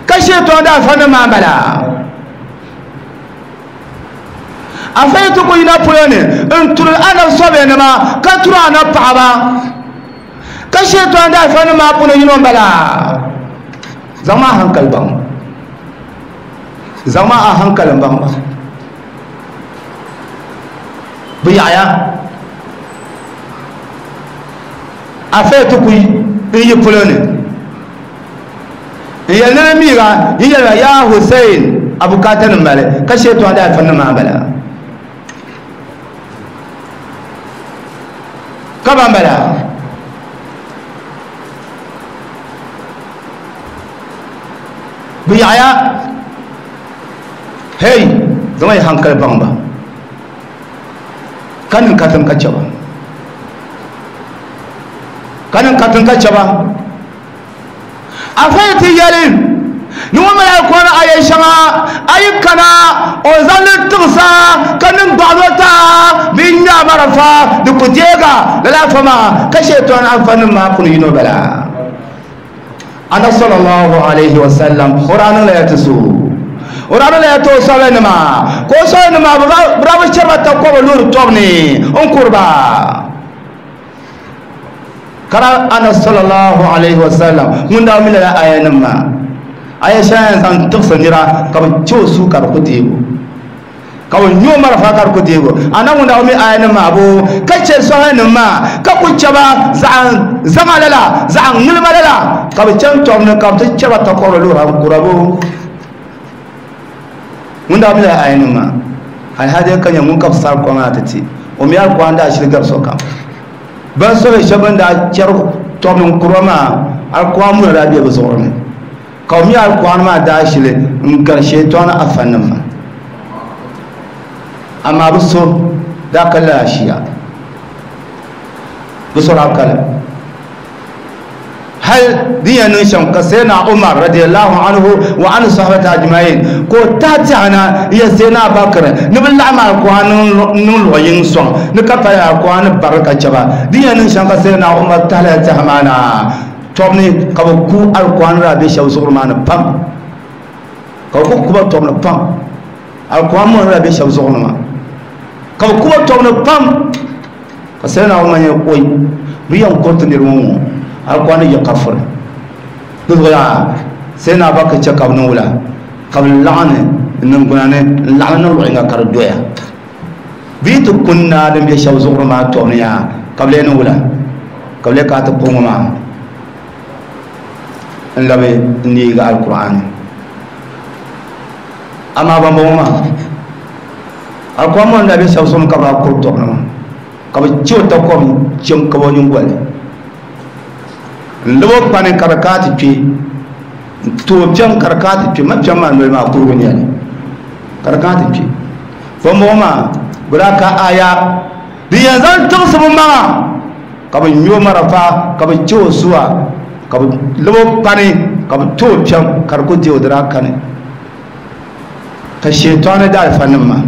ka shɛtɔn daa fa ni maa bala a fɛn ti ku yina polo ni n turi anabi sɔbiya nima ka turi anabi paɣaba ka shɛtɔn daa fa ni maa puuni yino n bala zaŋ a hankali baŋ zaŋ a hankali baŋ ba bi yaɣaya a fɛn ti ku n yi polo ni n yɛli ni miiga yi yɛlila yaa Hussein a bukaata nim mali ka shɛtɔn daa fa ni maa bala ka ban bala bi yaɣaya hey zaŋ yi hankali baŋ ba Ka niŋ katiŋ ka chɛba ka niŋ katiŋ ka chɛba afa yi ti yɛli ni ŋun mali alkur'ani aya shɛŋa a yi kana o zaŋli tigsa ka niŋ gbaɣano taa bee n ŋmɛ a marafa di ku deega lala afa maa ka shɛtɔn afa nim maa puni yino bala ana sallallahu alayhi wa sallam o daa niŋla ya ti so o daa niŋla ya ti o sɔbili nima ka o sɔbili nima bi daa bi chɛriba takɔbi loori tɔbu ni n kuriba kara ana sallallahu alayhi wa sallam ŋun daa mi lala aya nim maa aya shɛŋa yɛn zaŋ tigsi nira ka bi chɛ o suu ka di ku deego ka bi nyo marafa ka di ku deego ana ŋun daa mi aya nim maa bo ka chɛ sɔhili nim maa ka ku chɛba zaɣ zaŋa lala zaɣ ŋilima lala ka bi chɛni tɔbu ni ka bi ti chɛba takɔbiri loori n kura bo ŋun daa mi lala aya nim maa alhaji ka nyɛ ŋun ka bi sari kom maa ti ti o mi alikuran daa shiri gabi sokam ban sɔhili shɛba bin daa chɛri tɔbu ni n kura maa alikuran muna daa bɛ bi zuɣuri ni ka o mi alikuran maa daa shili n gari shɛtɔni afa nim maa amma bi so daa ka lala shiya bi so daa kali hal din yɛn niŋ shɛm ka sayyidina Umar radiyallahu anhu wa an sahabati ajma'in ko tahi tɛhana n yɛ sayyidina Abubakar ni bi laɣim alikuran niŋ luɣu yini sɔŋ ni ka pali alikuran bari ka chɛba din yɛn niŋ shɛm ka sayyidina Umar tahila tɛha maa na tɔbu ni ka bi ku alikuran daa bɛ shɛba zuɣuri maa ni pam ka bi ku kuba tɔbu ni pam alikuran mɔri daa bɛ shɛba zuɣuri maa ka bi kuba tɔbu ni pam ka sayyidina Umar nyɛ oi bi yɛn kuriti niriba ŋɔ alikuran yɛ kafiri di zuɣu yaa sayyidina Abubakar chɛ ka bi niŋ wula ka bi laɣim n niŋgbuna ni n laɣim niŋ luɣu yinga ka di doya bi yi ti kun naa din bɛ shɛba zuɣuri maa tɔbu ni yaa ka bi lee niŋ wula ka bi lee kana ti kpuɣi ŋɔ maa n labi n neegi alkur'ani amaa ban bɔŋɔ maa alkur'an ŋɔ n daa bɛ shɛba zuɣu ni ka bi daa kuri tɔbu ni maa ka bi chɛ o takɔbi n chɛ n kaba o nyingoli n labo kpani ka di kana ti kpe n tooi piɛm ka di kana ti kpe ma piɛm maa noli maa kurigu nyɛli ka di kana ti kpe ban bɔŋɔ maa bi daa ka aya din yɛn zaŋ tigsi bi maŋa ka bi nyo marafa ka bi chɛ o suwa ka bi labo kpani ka bi tooi piɛm ka di ku deei o di daa kani ka shɛtɔni da alifa nim maa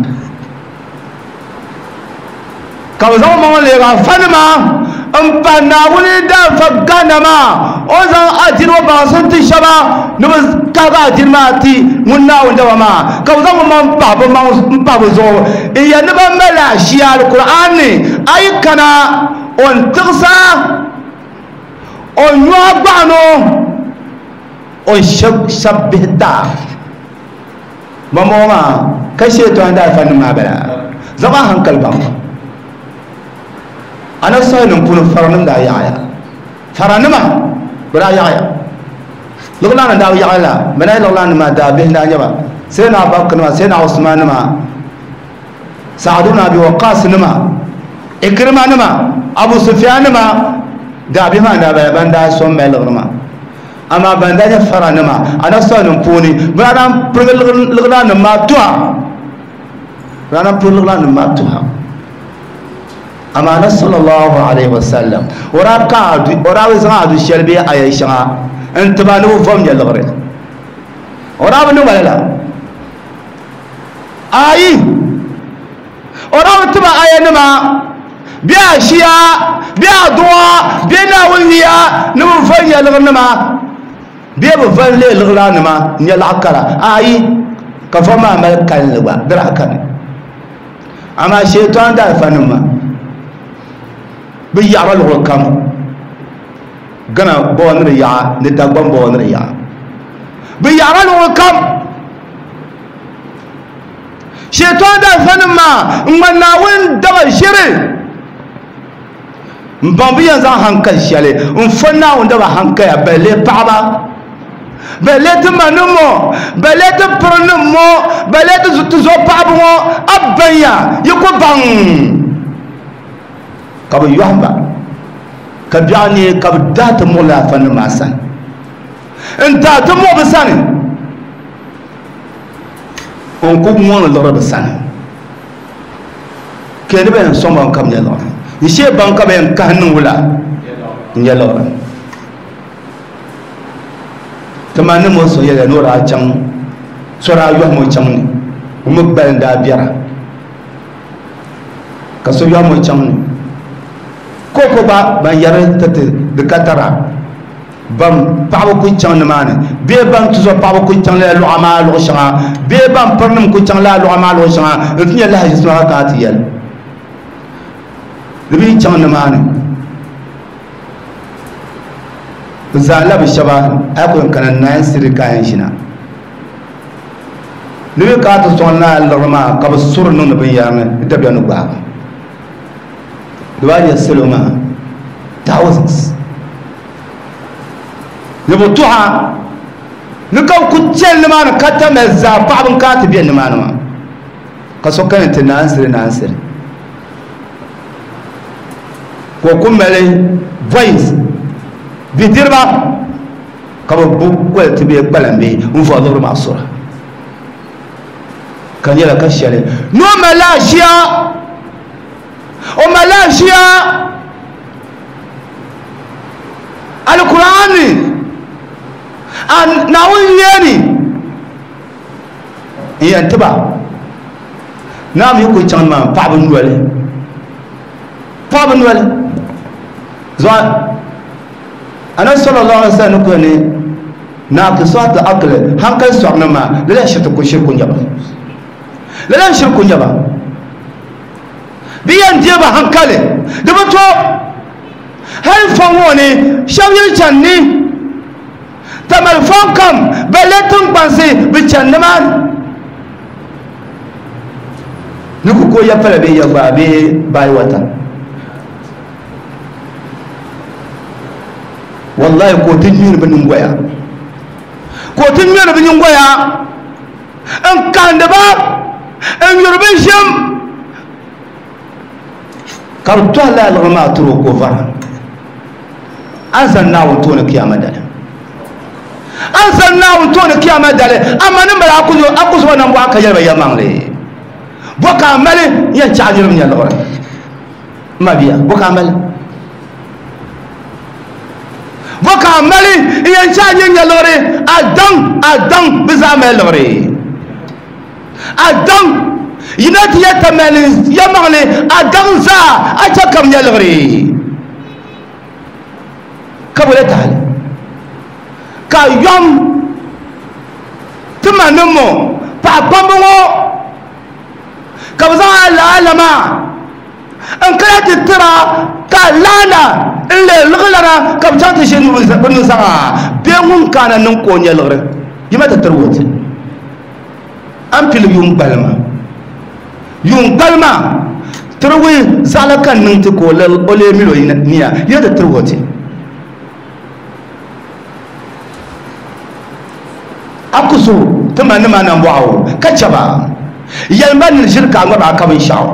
ka bi zaŋ maŋ leegi afa nima n pa Naawuni daanfa gana maa o zaŋ adini o baŋsim ti shɛba ni bi kahigi adini maa ti ŋun Naawuni daba maa ka bi zaŋ bi maŋ pahi bi maŋ n pahi bi zuɣu n yɛn ni ban mali ashiya alkur'an ni a yi kana o n tigsa o nyoa gbaɣano o n shɛbi bihi taa bambɔŋɔ maa ka shɛtɔni daalifa nim maa bala zaŋ a hankali baŋ ana sɔhili nim puuni faranim daa yaɣaya faranima bi daa yaɣaya luɣulani daa yaɣaya la bɛ na luɣulani maa daa bihi daa nyɛba sayyidina Abubakar nima sayyidina Usman nima Sa'ad ibn Abi Waqqas nima Ikrima nima Abu Sufyan nima daa bihi maa daa bala ban daa sɔn mali liɣiri maa amaa ban daa nyɛ faranima ana sɔhili nim puuni bi daa naan pirigi liɣiri nim maa tuha bi daa naan pirigi liɣiri nim maa tuha amma na sallallahu alaihi wasallam ora ka ora bi zaŋ adu shɛli bee aya shɛŋa n tiba ni bi vom nyɛ liɣiri ora bi niŋ la ayi ora bi tiba aya nima bee ashiya bee aduwa bee Naawuni niya ni bi vom nyɛ liɣiri nima bee bi vom lee liɣiri nima n nyɛ laɣa kara ayi ka vom maa mali kalinli gba di daa kani amaa shɛtɔn daalifa nim maa bi yaɣara luɣuli kam Gana bɔŋɔ ni di yaɣa ni Dagbaŋ bɔŋɔ ni di yaɣa bi yaɣara luɣuli kam shɛtɔn daalifa nim maa n ŋmani Naawuni daba ʒiri n baŋ bi yɛn zaŋ hankali shɛli n fo Naawuni daba hankaya balle paɣaba balle ti ma nim ŋɔ balle ti piri nim ŋɔ balle ti zuɣu paɣaba ŋɔ a banya yi ku baŋ ka bi yɔhimba ka biɛɣu neei ka bi daa ti muɣi laafa nim maa sani n daa ti muɣi bi sani n ku ŋɔŋ liɣiri bi sani Ke ni ben sɔŋ ban kam nyɛ liɣiri n shee ban ka bɛn kahi niŋ wula n nyɛ liɣiri ti ma ni mo so yɛla ni o daa chaŋ so daa yɔhim o chaŋ ni o mi gbali n daa biɛra ka so yɔhim o chaŋ ni koko gba ban yɛri ti ti di ka tara ban paɣaba ku chaŋ nimaani bee ban tuzo paɣaba ku chaŋ lala luɣa maa luɣu shɛŋa bee ban pirinim ku chaŋ lala luɣa maa luɣu shɛŋa n ti nyɛ lahaʒi suma ka ti yɛli di bi chaŋ nimaani bi zaŋla bi shɛba a ku yɛn kana nine siri ka yɛn ʒina ni bi kana ti sɔŋ lala liɣiri maa ka bi suri niŋdi binyɛra ni dabiɛm ni gbaagi di baa nyɛ salo maa thousands ni bi tuha ni ka bi ku chɛli nimaani ka tamali zaa paɣaba n kana ti bɛ nimaani maa ka so kana ti naan siri naan siri ka o ku mali boys bidiriba ka bi bu koli ti bee kpalam bee n vɔri liɣiri maa sura ka nyɛla ka shɛli ni o malila aʒiya o malila aʒiya Alkur'ani Naawuni yuya ni n yɛn tiba naa mi ku chaŋ maa paɣaba noli paɣaba noli zuɣu Anabi sallallahu alaihi wasallam ko ni naqisat aql hankali sɔrimi maa lala shiri ku shiri ku nyɛba lala shiri ku nyɛba bi yɛn deeba hankali di bi to hali fɔŋ ŋɔ ni shɛba yi chani ni tamali fɔŋ kam balle tiŋkpansi bi chani nimaani ni ku ko ya pala bee ya gbaa bee bayi wata wallahi ko ti ŋmɛri bi nyingoya ko ti ŋmɛri bi nyingoya n kahindi ba n yuri bi ʒim ka bi tɔhi lala liɣiri maa tiri o ka o vara an zani Naawuni tooni kiyama dali an zani Naawuni tooni kiyama dali amma ni mali a ku zuba nambɔɣu ka yɛli ba yɛlimaŋli bɔ ka a mali n yɛn chaɣi niriba nyɛ liɣiri n ma bia bɔ ka a mali bɔ ka a mali n yɛn chaɣi niriba nyɛ liɣiri a daŋ a daŋ bi zaa mali liɣiri a daŋ yina ti yɛ tamali yɛlimaŋli a daŋ zaa a chɛ ka bi nyɛ liɣiri ka bi le tahali ka yɔm ti ma ni mo paɣa kpamba ŋɔ ka bi zaŋ alaala maa n kana ti tira ka laana n leei liɣilana ka bi chaŋ ti ʒi bi nuzaŋa bee ŋun kana niŋ ka o nyɛ liɣiri yima ti tiri woti an pili yuun gbalima yuun gbalima tiriwi zaɣala ka niŋ ti ka o lee mili o niya yina ti tiri woti a ku so ti ma nima nambɔɣu ka chɛba yɛlima ni ʒiri ka a ŋmariba ka binshaɣu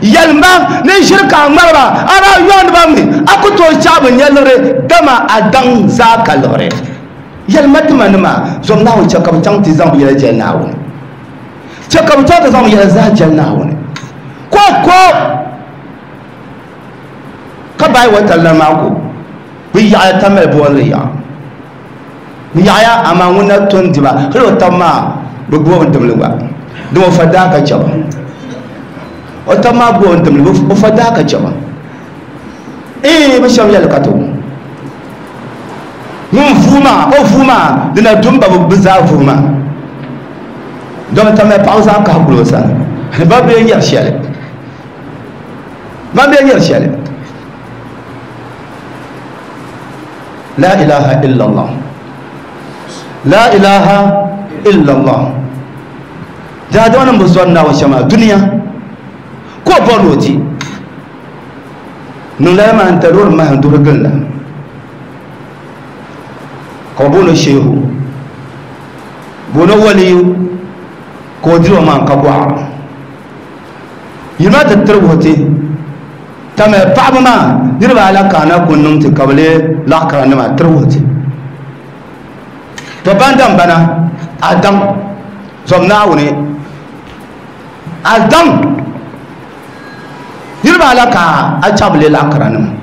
yɛlima ni ʒiri ka a ŋmariba a daa yɔndiba mi a ku tooi chaɣi bi nyɛ liɣiri dama a daŋ zaa ka liɣiri yɛlima ti ma nima zom Naawuni chɛ ka bi chaŋ ti zaŋ bi yɛla jɛli Naawuni chɛ ka bi chaŋ ti zaŋ bi yɛla zaa jɛli Naawuni ko ko ka bayi wa tali maa ko bi yaɣaya tamali booni yaɣa bi yaɣaya amaa ŋun na to n diba hali o tabi maa bi gbubi n dimli gba dama o fa daa ka chɛba o tabi maa gbubi n dimli o fa daa ka chɛba ee bi shɛba yɛli ka to ŋun vuu maa o vuu maa di na dum ba bi zaa vuu maa dama tamali paɣaba zaa kahi guli o sani ban bee nyɛri shɛli ban bee nyɛri shɛli la ilaha illallah la ilaha illallah daadama nim bi zɔri Naawuni shɛm maa duniya ka o bɔri ni o di niŋ lala maa n tali o ni mahim duhiri gili la ka bi booni shehu booni waliyu ka o diri o maa ka gɔɣa yino ti tiri wuhi ti tamali paɣaba maa niriba ala ka na ku niŋ ti ka bi lee laɣa kara nima tiri wuhi ti to ban dam bana a daŋ zɔm Naawuni a daŋ Niriba ala ka a chabili lakaranima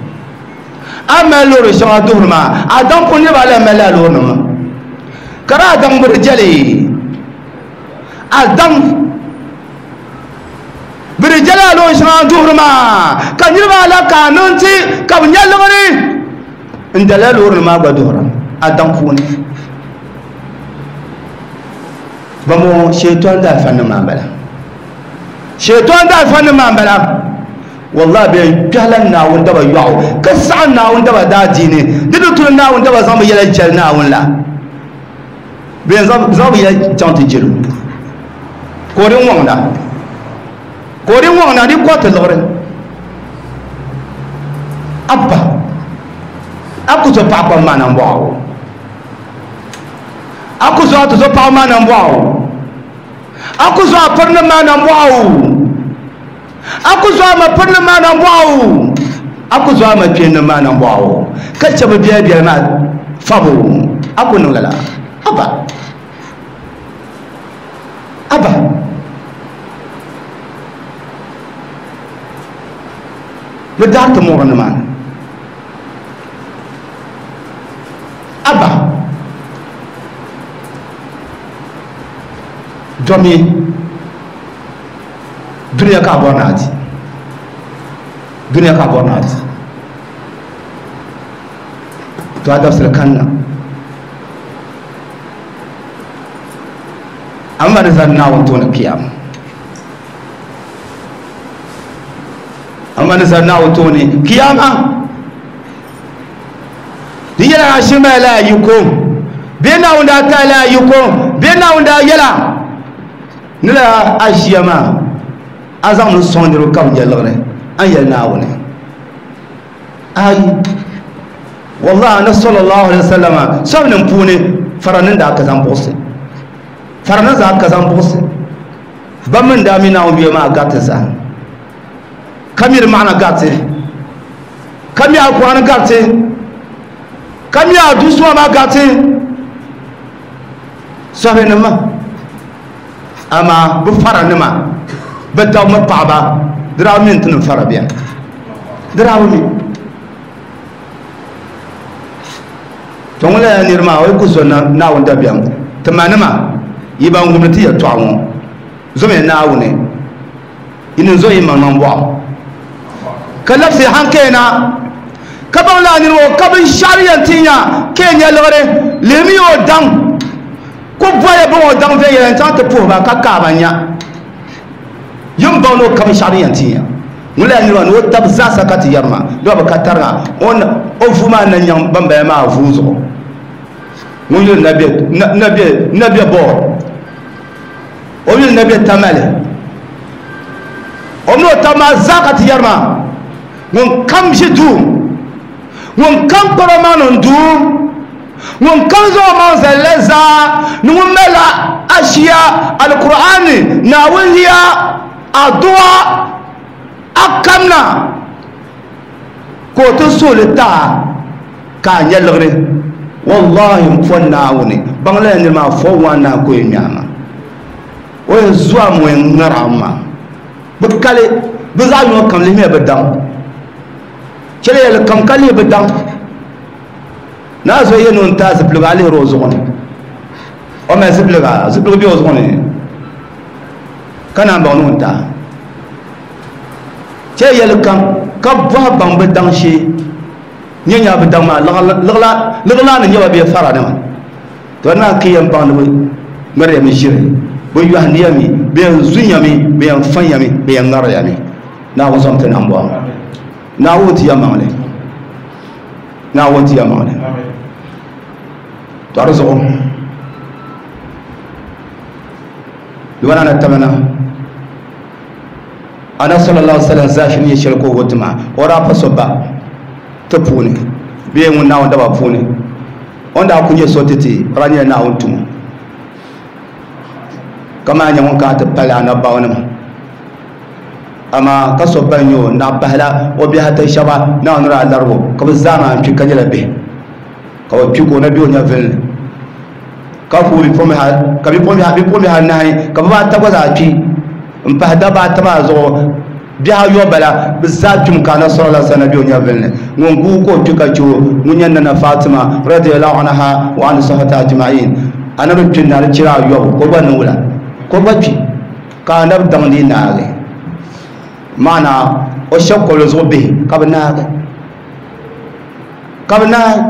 a mali loori shɛŋa duhuri maa a daŋ puuni niriba ala mali a loorinima ka di a daŋ bi di jɛli a daŋ bi di jɛli a loori shɛŋa duhuri maa ka niriba ala ka a niŋ ti ka bi nya liɣiri n dala loorinima maa gba duhura a daŋ puuni bamo shaitan da fannin maa bala shaitan da fannin maa bala wallahi bai kpɛhila naawuni daba yɔɣu ka saɣa naawuni daba daa diini di di tuli naawuni daba zaŋ bi yɛla jɛli naawuni la bɛ zaŋ bi yɛla chaŋ ti jɛli ka o di ŋɔŋda ka o di ŋɔŋda di kɔti liɣiri abba a ku so paɣa kpam maa na n-bɔɣu a ku so a ti so paɣa maa na n-bɔɣu a ku so a pirinim maa na n-bɔɣu a ku zo a ma pirinim maa na n-bɔɣu a ku zo a ma kpeenim maa na n-bɔɣu ka chɛ bi biɛli biɛli maa fabu a ku niŋ lala aba aba bi daari ti muɣiri ni maa ni aba domi duniya ka bɔri na ti duniya ka bɔri na ti to a dabisili kanna amma ni zani naawuni tooni kiyama amma ni zani naawuni tooni kiyama di yɛla a shiri mali la yiko bee naawuni daa taai la yiko bee naawuni daa yɛla ni la a ʒiya maa a zaŋ mi sɔŋ niriba ka bi nya liɣiri an yɛli naawuni ayi wallahi anabi sallallahu alaihi wasallam sɔbinim puuni faranin daa ka zaŋ buɣusi faranin zaa ka zaŋ buɣusi ba min daa mi naawuni bia maa gariti zaa ka mi di maɣana gariti ka mi alkur'ani gariti ka mi adusuwa maa gariti sɔbinim ma ama bi faranima bi dabba mi paɣaba di daa mi n ti niŋ fara biɛni di daa bi mi to ŋun lala niri maa o yi ku zo naawuni dabiɛm ti ma nima yi ban wumdi ti yɛltɔɣa ŋɔ zomiya naawuni yi ni zo yi maŋmaŋ bɔɣu ka labisi hankali na ka baŋ laa niri ŋɔ ka binshaɣu din yɛn ti nya ka yɛn nya liɣiri lihimi o daŋ ku bɔya bin o daŋ viɛnyɛla n chaŋ ti puhi ba ka kaaba nya yin baŋ ni o ka binshaɣu din yɛn ti nya ŋun lala niri maa ni o tabi zaasa ka ti yɛri maa di ba bi ka tariga o vuu maa na nyaŋ ban bala maa vuu zuɣu ŋun yuli na be bɔɔl o yuli na be tamale o mi o tabi maa zaa ka ti yɛri maa ŋun kam ʒi duu ŋun kam kparo maa niŋ duu ŋun kam zaŋ o maŋ zali la zaa ni ŋun malila ashiya alkur'ani naawuni yiya aduwa a kamna ka o ti suhuli taa ka a nya liɣiri wallahi n po naawuni baŋ lala niri maa fo waan naa ka o yɛn ŋmɛɣa maa o yɛn zuwa mi o yɛn ŋari a maa bi kali bi zaɣ yino kam lihimiya bi daŋ chɛli yɛli kam ka lihi bi daŋ naa zo yɛn ni taa zipiligu a lihiri o zuɣu ni o mali zipiliga zipiligu bɛ o zuɣu ni ka naan baŋ ni ŋun taa chɛ yɛli kam ka bɔhi baŋ bi daŋ shee nyɛ nyaa bi daŋ maa liɣila ni nyɛba bee fara nima to naa ki yɛn baŋ ni bi ŋmɛriya mi ʒiri bi yɔhindiya mi bi yɛn zunya mi bi yɛn fanya mi bi yɛn ŋariya mi naawuni zɔm ti nam bɔŋɔ naawuni ti yɛlimaŋli naawuni ti yɛlimaŋli to di zuɣu dibana na tamana ana sallallahu alaihi wasallam zafi ni shɛli ka o wuti maa o daa pa so ba ti puuni bee ŋun naawuni daba puuni o ni daa ku nyɛ so ti ti o daa nyɛla naawuni tumo ka maa nyɛ ŋun kana ti pali anabbawanima amaa ka so ban nyɛ o naɣ pahila o bihi ata shɛba naawuni daa larigo ka bi zaa maa kpi ka nyɛla bihi ka bi kpi ka o na bɛ o nyɛvili ni ka ku ka bipuɣimbihi anahi ka bibaata gba zaa kpi n pahi dabba ata maa zuɣu Bihi ayɔbu bala bɛ zaa kpimi ka anabi sallallahu alaihi wasallam be o nyɛvuli ni ŋun guui ka o kpi ka che o ŋun nyɛ nana Fatima radiyallahu anha wa an sahati ajma'in anabi kpi na di chira ayɔbu ka o gba niŋ wula ka o gba kpi ka anabi daŋ dii naagi maana o shɛba kɔbili zuɣu bihi ka bɛ naagi ka bɛ naagi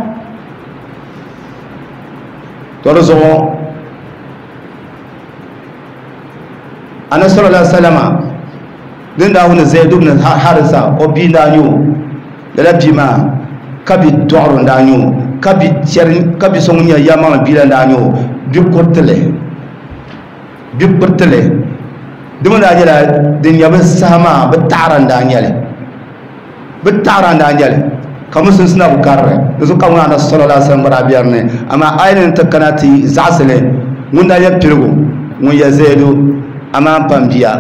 to di zuɣu anabi sallallahu alaihi wasallam din daa wuni Zaid ibn Harisa o bia n-daa nyɛ o lala bia maa ka bi dɔɣiro n-daa nyɛ o ka bi chɛri ka bi so ŋun nyɛ ya maŋli bia la n-daa nyɛ o bi kuritili bi kuritili di mi daa nyɛla din nyɛ bi saha maa bi taɣara n-daa nyɛli bi taɣara n-daa nyɛli ka musulunsi na bi karili di zuɣu ka ŋun anabi sallallahu alaihi wasallam gba daa bɛ dinni amaa a yi ni ti kana ti zaɣasili ŋun daa nyɛ piligu ŋun yɛ Zaidu amaa n pam bia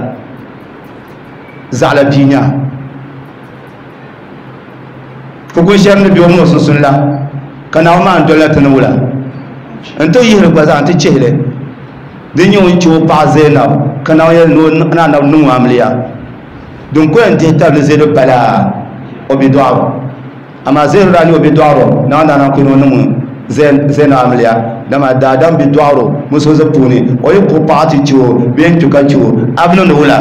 zaɣala bia nya fukun shɛri ni bɛ o mini o sunsuuni la ka Naawuni maa n dolila ti ni wula n ti yihili gba zaa n ti chihili din nyɛ ŋun che o paɣa Zainab ka Naawuni yɛli ni anabi niŋ o amiliya din ko yɛn dihi tabili Zaidu pala o bi dɔɣiro amaa Zaidu daa nyɛ o bi dɔɣiro Naawuni daa naan ku ni o niŋ Zainab amiliya dama daadam bi dɔɣiro musulunsi puuni o yi kpuɣi paɣa ti che o bee n kpi ka che o a bi niŋdi wula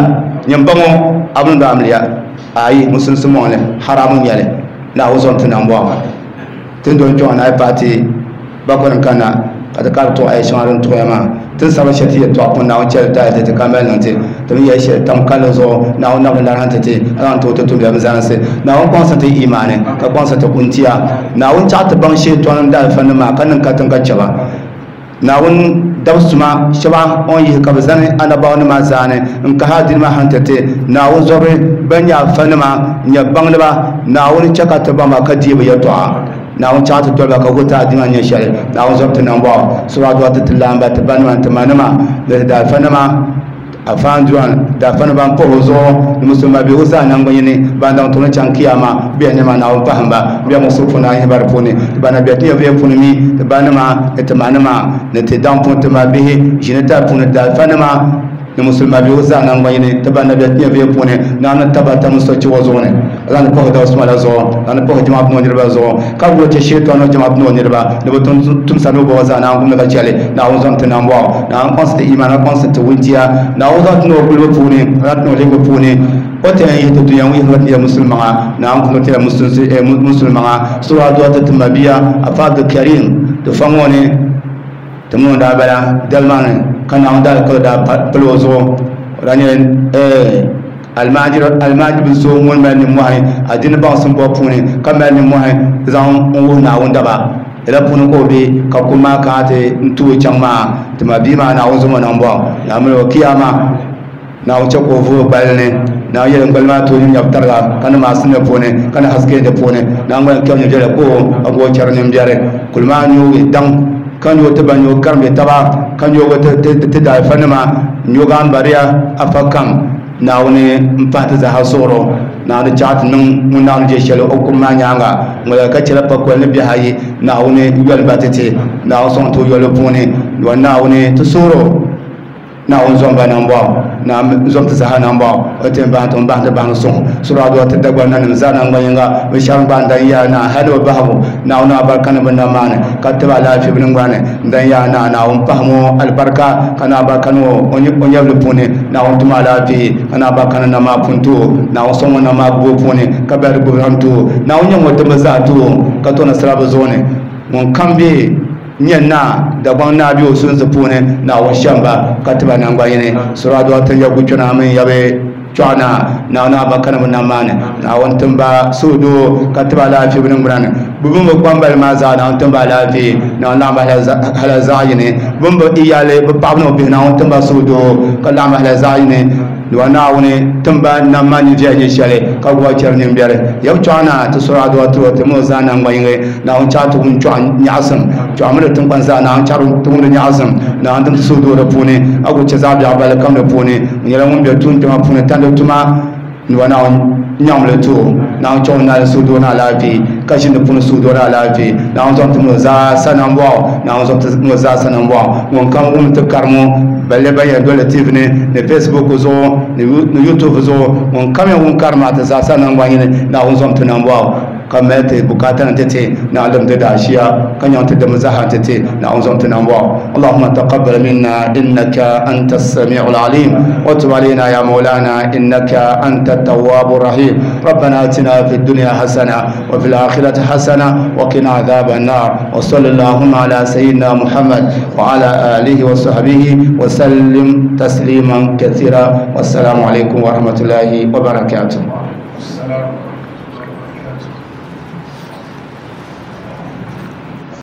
nyɛ baŋɔ a bi niŋdi amiliya ayi musulunsi mɔŋli haramu nyɛli Naawuni zɔm ti nambɔɣu tin don kpɛŋɔ na yi paai ti bakɔni kana ka ti kari tuɣi ayi shɛŋa din tuɣiya maa tin sabi shɛli ti yɛltɔɣa pun Naawuni chɛli taali ti ti ka mali niŋ ti ti mi yɛli shɛli tam kalli zuɣu Naawuni nabili larihi ti ti a zaŋ ti o ti tumdiya bi zalinsi Naawuni kpaŋsi ti imaani ka kpaŋsi ti kuntiya Naawuni chaɣ ti baŋ shɛtɔni daalifa maa ka niŋ katiŋ ka chɛba Naawuni dabsuma shɛba o ni yihi ka bɛ zani anabaawanima zaani n kahi adiini maa han ti ti Naawuni zɔbiri ban nyɛ afanima n-nyɛ baŋdiba Naawuni chɛ ka ti baŋ ba ka deei bɛ yɛltɔɣa Naawuni chaɣ ti doli ba ka wuhi ti adiini maa nyɛ shɛli Naawuni zɔbi ti nambɔɣu sura dɔɣi ti ti laamba ti banima ti manima ni ti daafanima afaanduran daafani ban pahi o zuɣu ni musulima bihigu zaa nangbani yini ban daŋ tuuni chaŋ kiyama bɛ nima Naawuni pahim ba bɛ muɣisigu puuni a yihi ba di puuni ti ba na bɛ ti nyɛvuya puuni mi ti banima ni ti manima ni ti daŋ puuni ti ma bihi ʒini tali puuni daafanima ni musulima bihigu zaa nangbani yini ti ba na bɛ ti nyɛvuya puuni Naawuni tabata musochiwa zuɣu ni a zaŋ ni pahi dabsuma la zuɣu zaŋ ni pahi jama puuni niriba zuɣu ka wuhi ti shɛtɔn jama puuni niriba ni bi tumsa ni bi bɔba zaa Naawuni gumdi ka chɛli Naawuni zɔm ti nambɔɣu Naawuni kpaŋsi ti imaani ka kpaŋsi ti wuntia Naawuni zaŋ ti ni o gulibu puuni zaŋ ti ni o lihibu puuni o ti yɛn yihi ti dunia ŋun yihi ti yɛ musulmaŋa Naawuni gumdi ti yɛ musulmaŋa sura dɔɣi ti ti mabia afa Abdulkarim ti fa ŋɔ ni ti mini o daa bala dali maa ni ka Naawuni daalikauli daa pili o zuɣu o daa nyɛla almaajiri bi so ŋun mali nimmohi adiini baŋsim bɔbu puuni ka mali nimmohi zaŋ n wuhi Naawuni daba lala puuni ka o be ka kum maa kana ti n tuui chaŋ maa ti ma bia maa Naawuni zɔm o nambɔɣu Naawuni o kiyama Naawuni chɛ ka o vuhi gbali ni Naawuni yɛli gbali maa tooi nyɛbu tariga ka ni maasi ni puuni ka ni haske di puuni Naawuni gba kɛm nyɛ viɛla ka o a gba o chɛri nimbiɛri kuli maa nyoogi daŋ ka nyoo ti ba nyoo karimbi taba ka nyoogi ti daalifanima nyoogi ambariya afa kam Naawuni n pahi ti zaaha suɣuro Naawuni chaɣ ti niŋ ŋun Naawuni je shɛli o kum maa nyaanga ŋɔla ka chɛla pakoli ni bihi ayi Naawuni yoli ba ti ti Naawuni sɔŋ ti o yoli puuni wa Naawuni ti suɣuro Naawuni zɔm ba nambɔɣu Naawuni zɔm ti zaaha nambɔɣu o ti bahi ti bahi ti bahi suŋ sura dɔɣi ti Dagbaŋ nanim zaa nangbani yinga bi shɛba gba n-dan yaa naa hali bi bahigu Naawuni abarika ni bi nam maa ni ka tiba alaafee bi ningbani n-dan yaa naa Naawuni pahim o alibarika ka na abarika ni o nyɛvili puuni Naawuni tum alaafee ka na abarika ni nam maa pun ti o Naawuni sɔŋ o nam maa gbubi o puuni ka bɛri gbubi zaŋ ti o Naawuni nyɛ ŋun dimbi zaa ti o ka to nasara bi zuɣu ni ŋun kam be nyɛ naa Dagbaŋ naa be o sunsi puuni Naawuni shɛm ba ka tiba nangbani yini sura dɔɣi ti yɛbu kpɛna mini yɛbi chɔɣu naa Naawuni abarika ni bi nam maa ni Naawuni timba suhudoo ka tiba alaafee bi ningbuna ni bi bini bi kpambali maa zaa Naawuni timba alaafee Naawuni laɣim ba hala zaɣ yini bini bi iyali bi paɣaba ni bi bihi Naawuni timba suhudoo ka laɣim ba hala zaɣ yini wa Naawuni timba nam maa ni viɛli nyɛ shɛli ka gbuba chɛri nimbiɛri yɛbu chɔɣu naa ti sura dɔɣi ti o ti mini o zaa nangbani yinga Naawuni chaɣ ti wum chɔɣu nyaɣisim chɔɣu mini di tiŋkpani zaa Naawuni chaɣ ti wum di nyaɣisim Naawuni tim ti suhudoo di puuni a ku chɛ zaɣ biɛɣu balli kam di puuni o nyɛla ŋun be tuun kpɛma puuni tandi tuma ni wa Naawuni nyaŋli ti o Naawuni chaɣ o naali suhudoo ni alaafee ka ʒini di puuni suhudoo ni alaafee Naawuni zɔm ti mini o zaa sa nambɔɣu Naawuni zɔm ti mini o zaa sa nambɔɣu ŋun kam wum ti karimu balle ban yɛn doli T V ni ni Facebook zuɣu ni youtube zuɣu ŋun kam ŋun karima ti zaasa nangbanyini Naawuni zom ti nambɔɣu ka mali ti bukaata ni ti ti Naawuni ti daashiya ka nyaŋ ti dimi zaha ti ti Naawuni zom ti nambɔɣu. اللهم تقبل منا إنك أنت السميع العليم وتب علينا يا مولانا إنك أنت التواب الرحيم. ربنا آتنا في الدنيا حسنة وفي الآخرة حسنة وقنا عذاب النار. وصلى اللهم على سيدنا محمد وعلى آله وصحبه وسلم تسليما كثيرا. والسلام عليكم ورحمة الله وبركاته. السلام.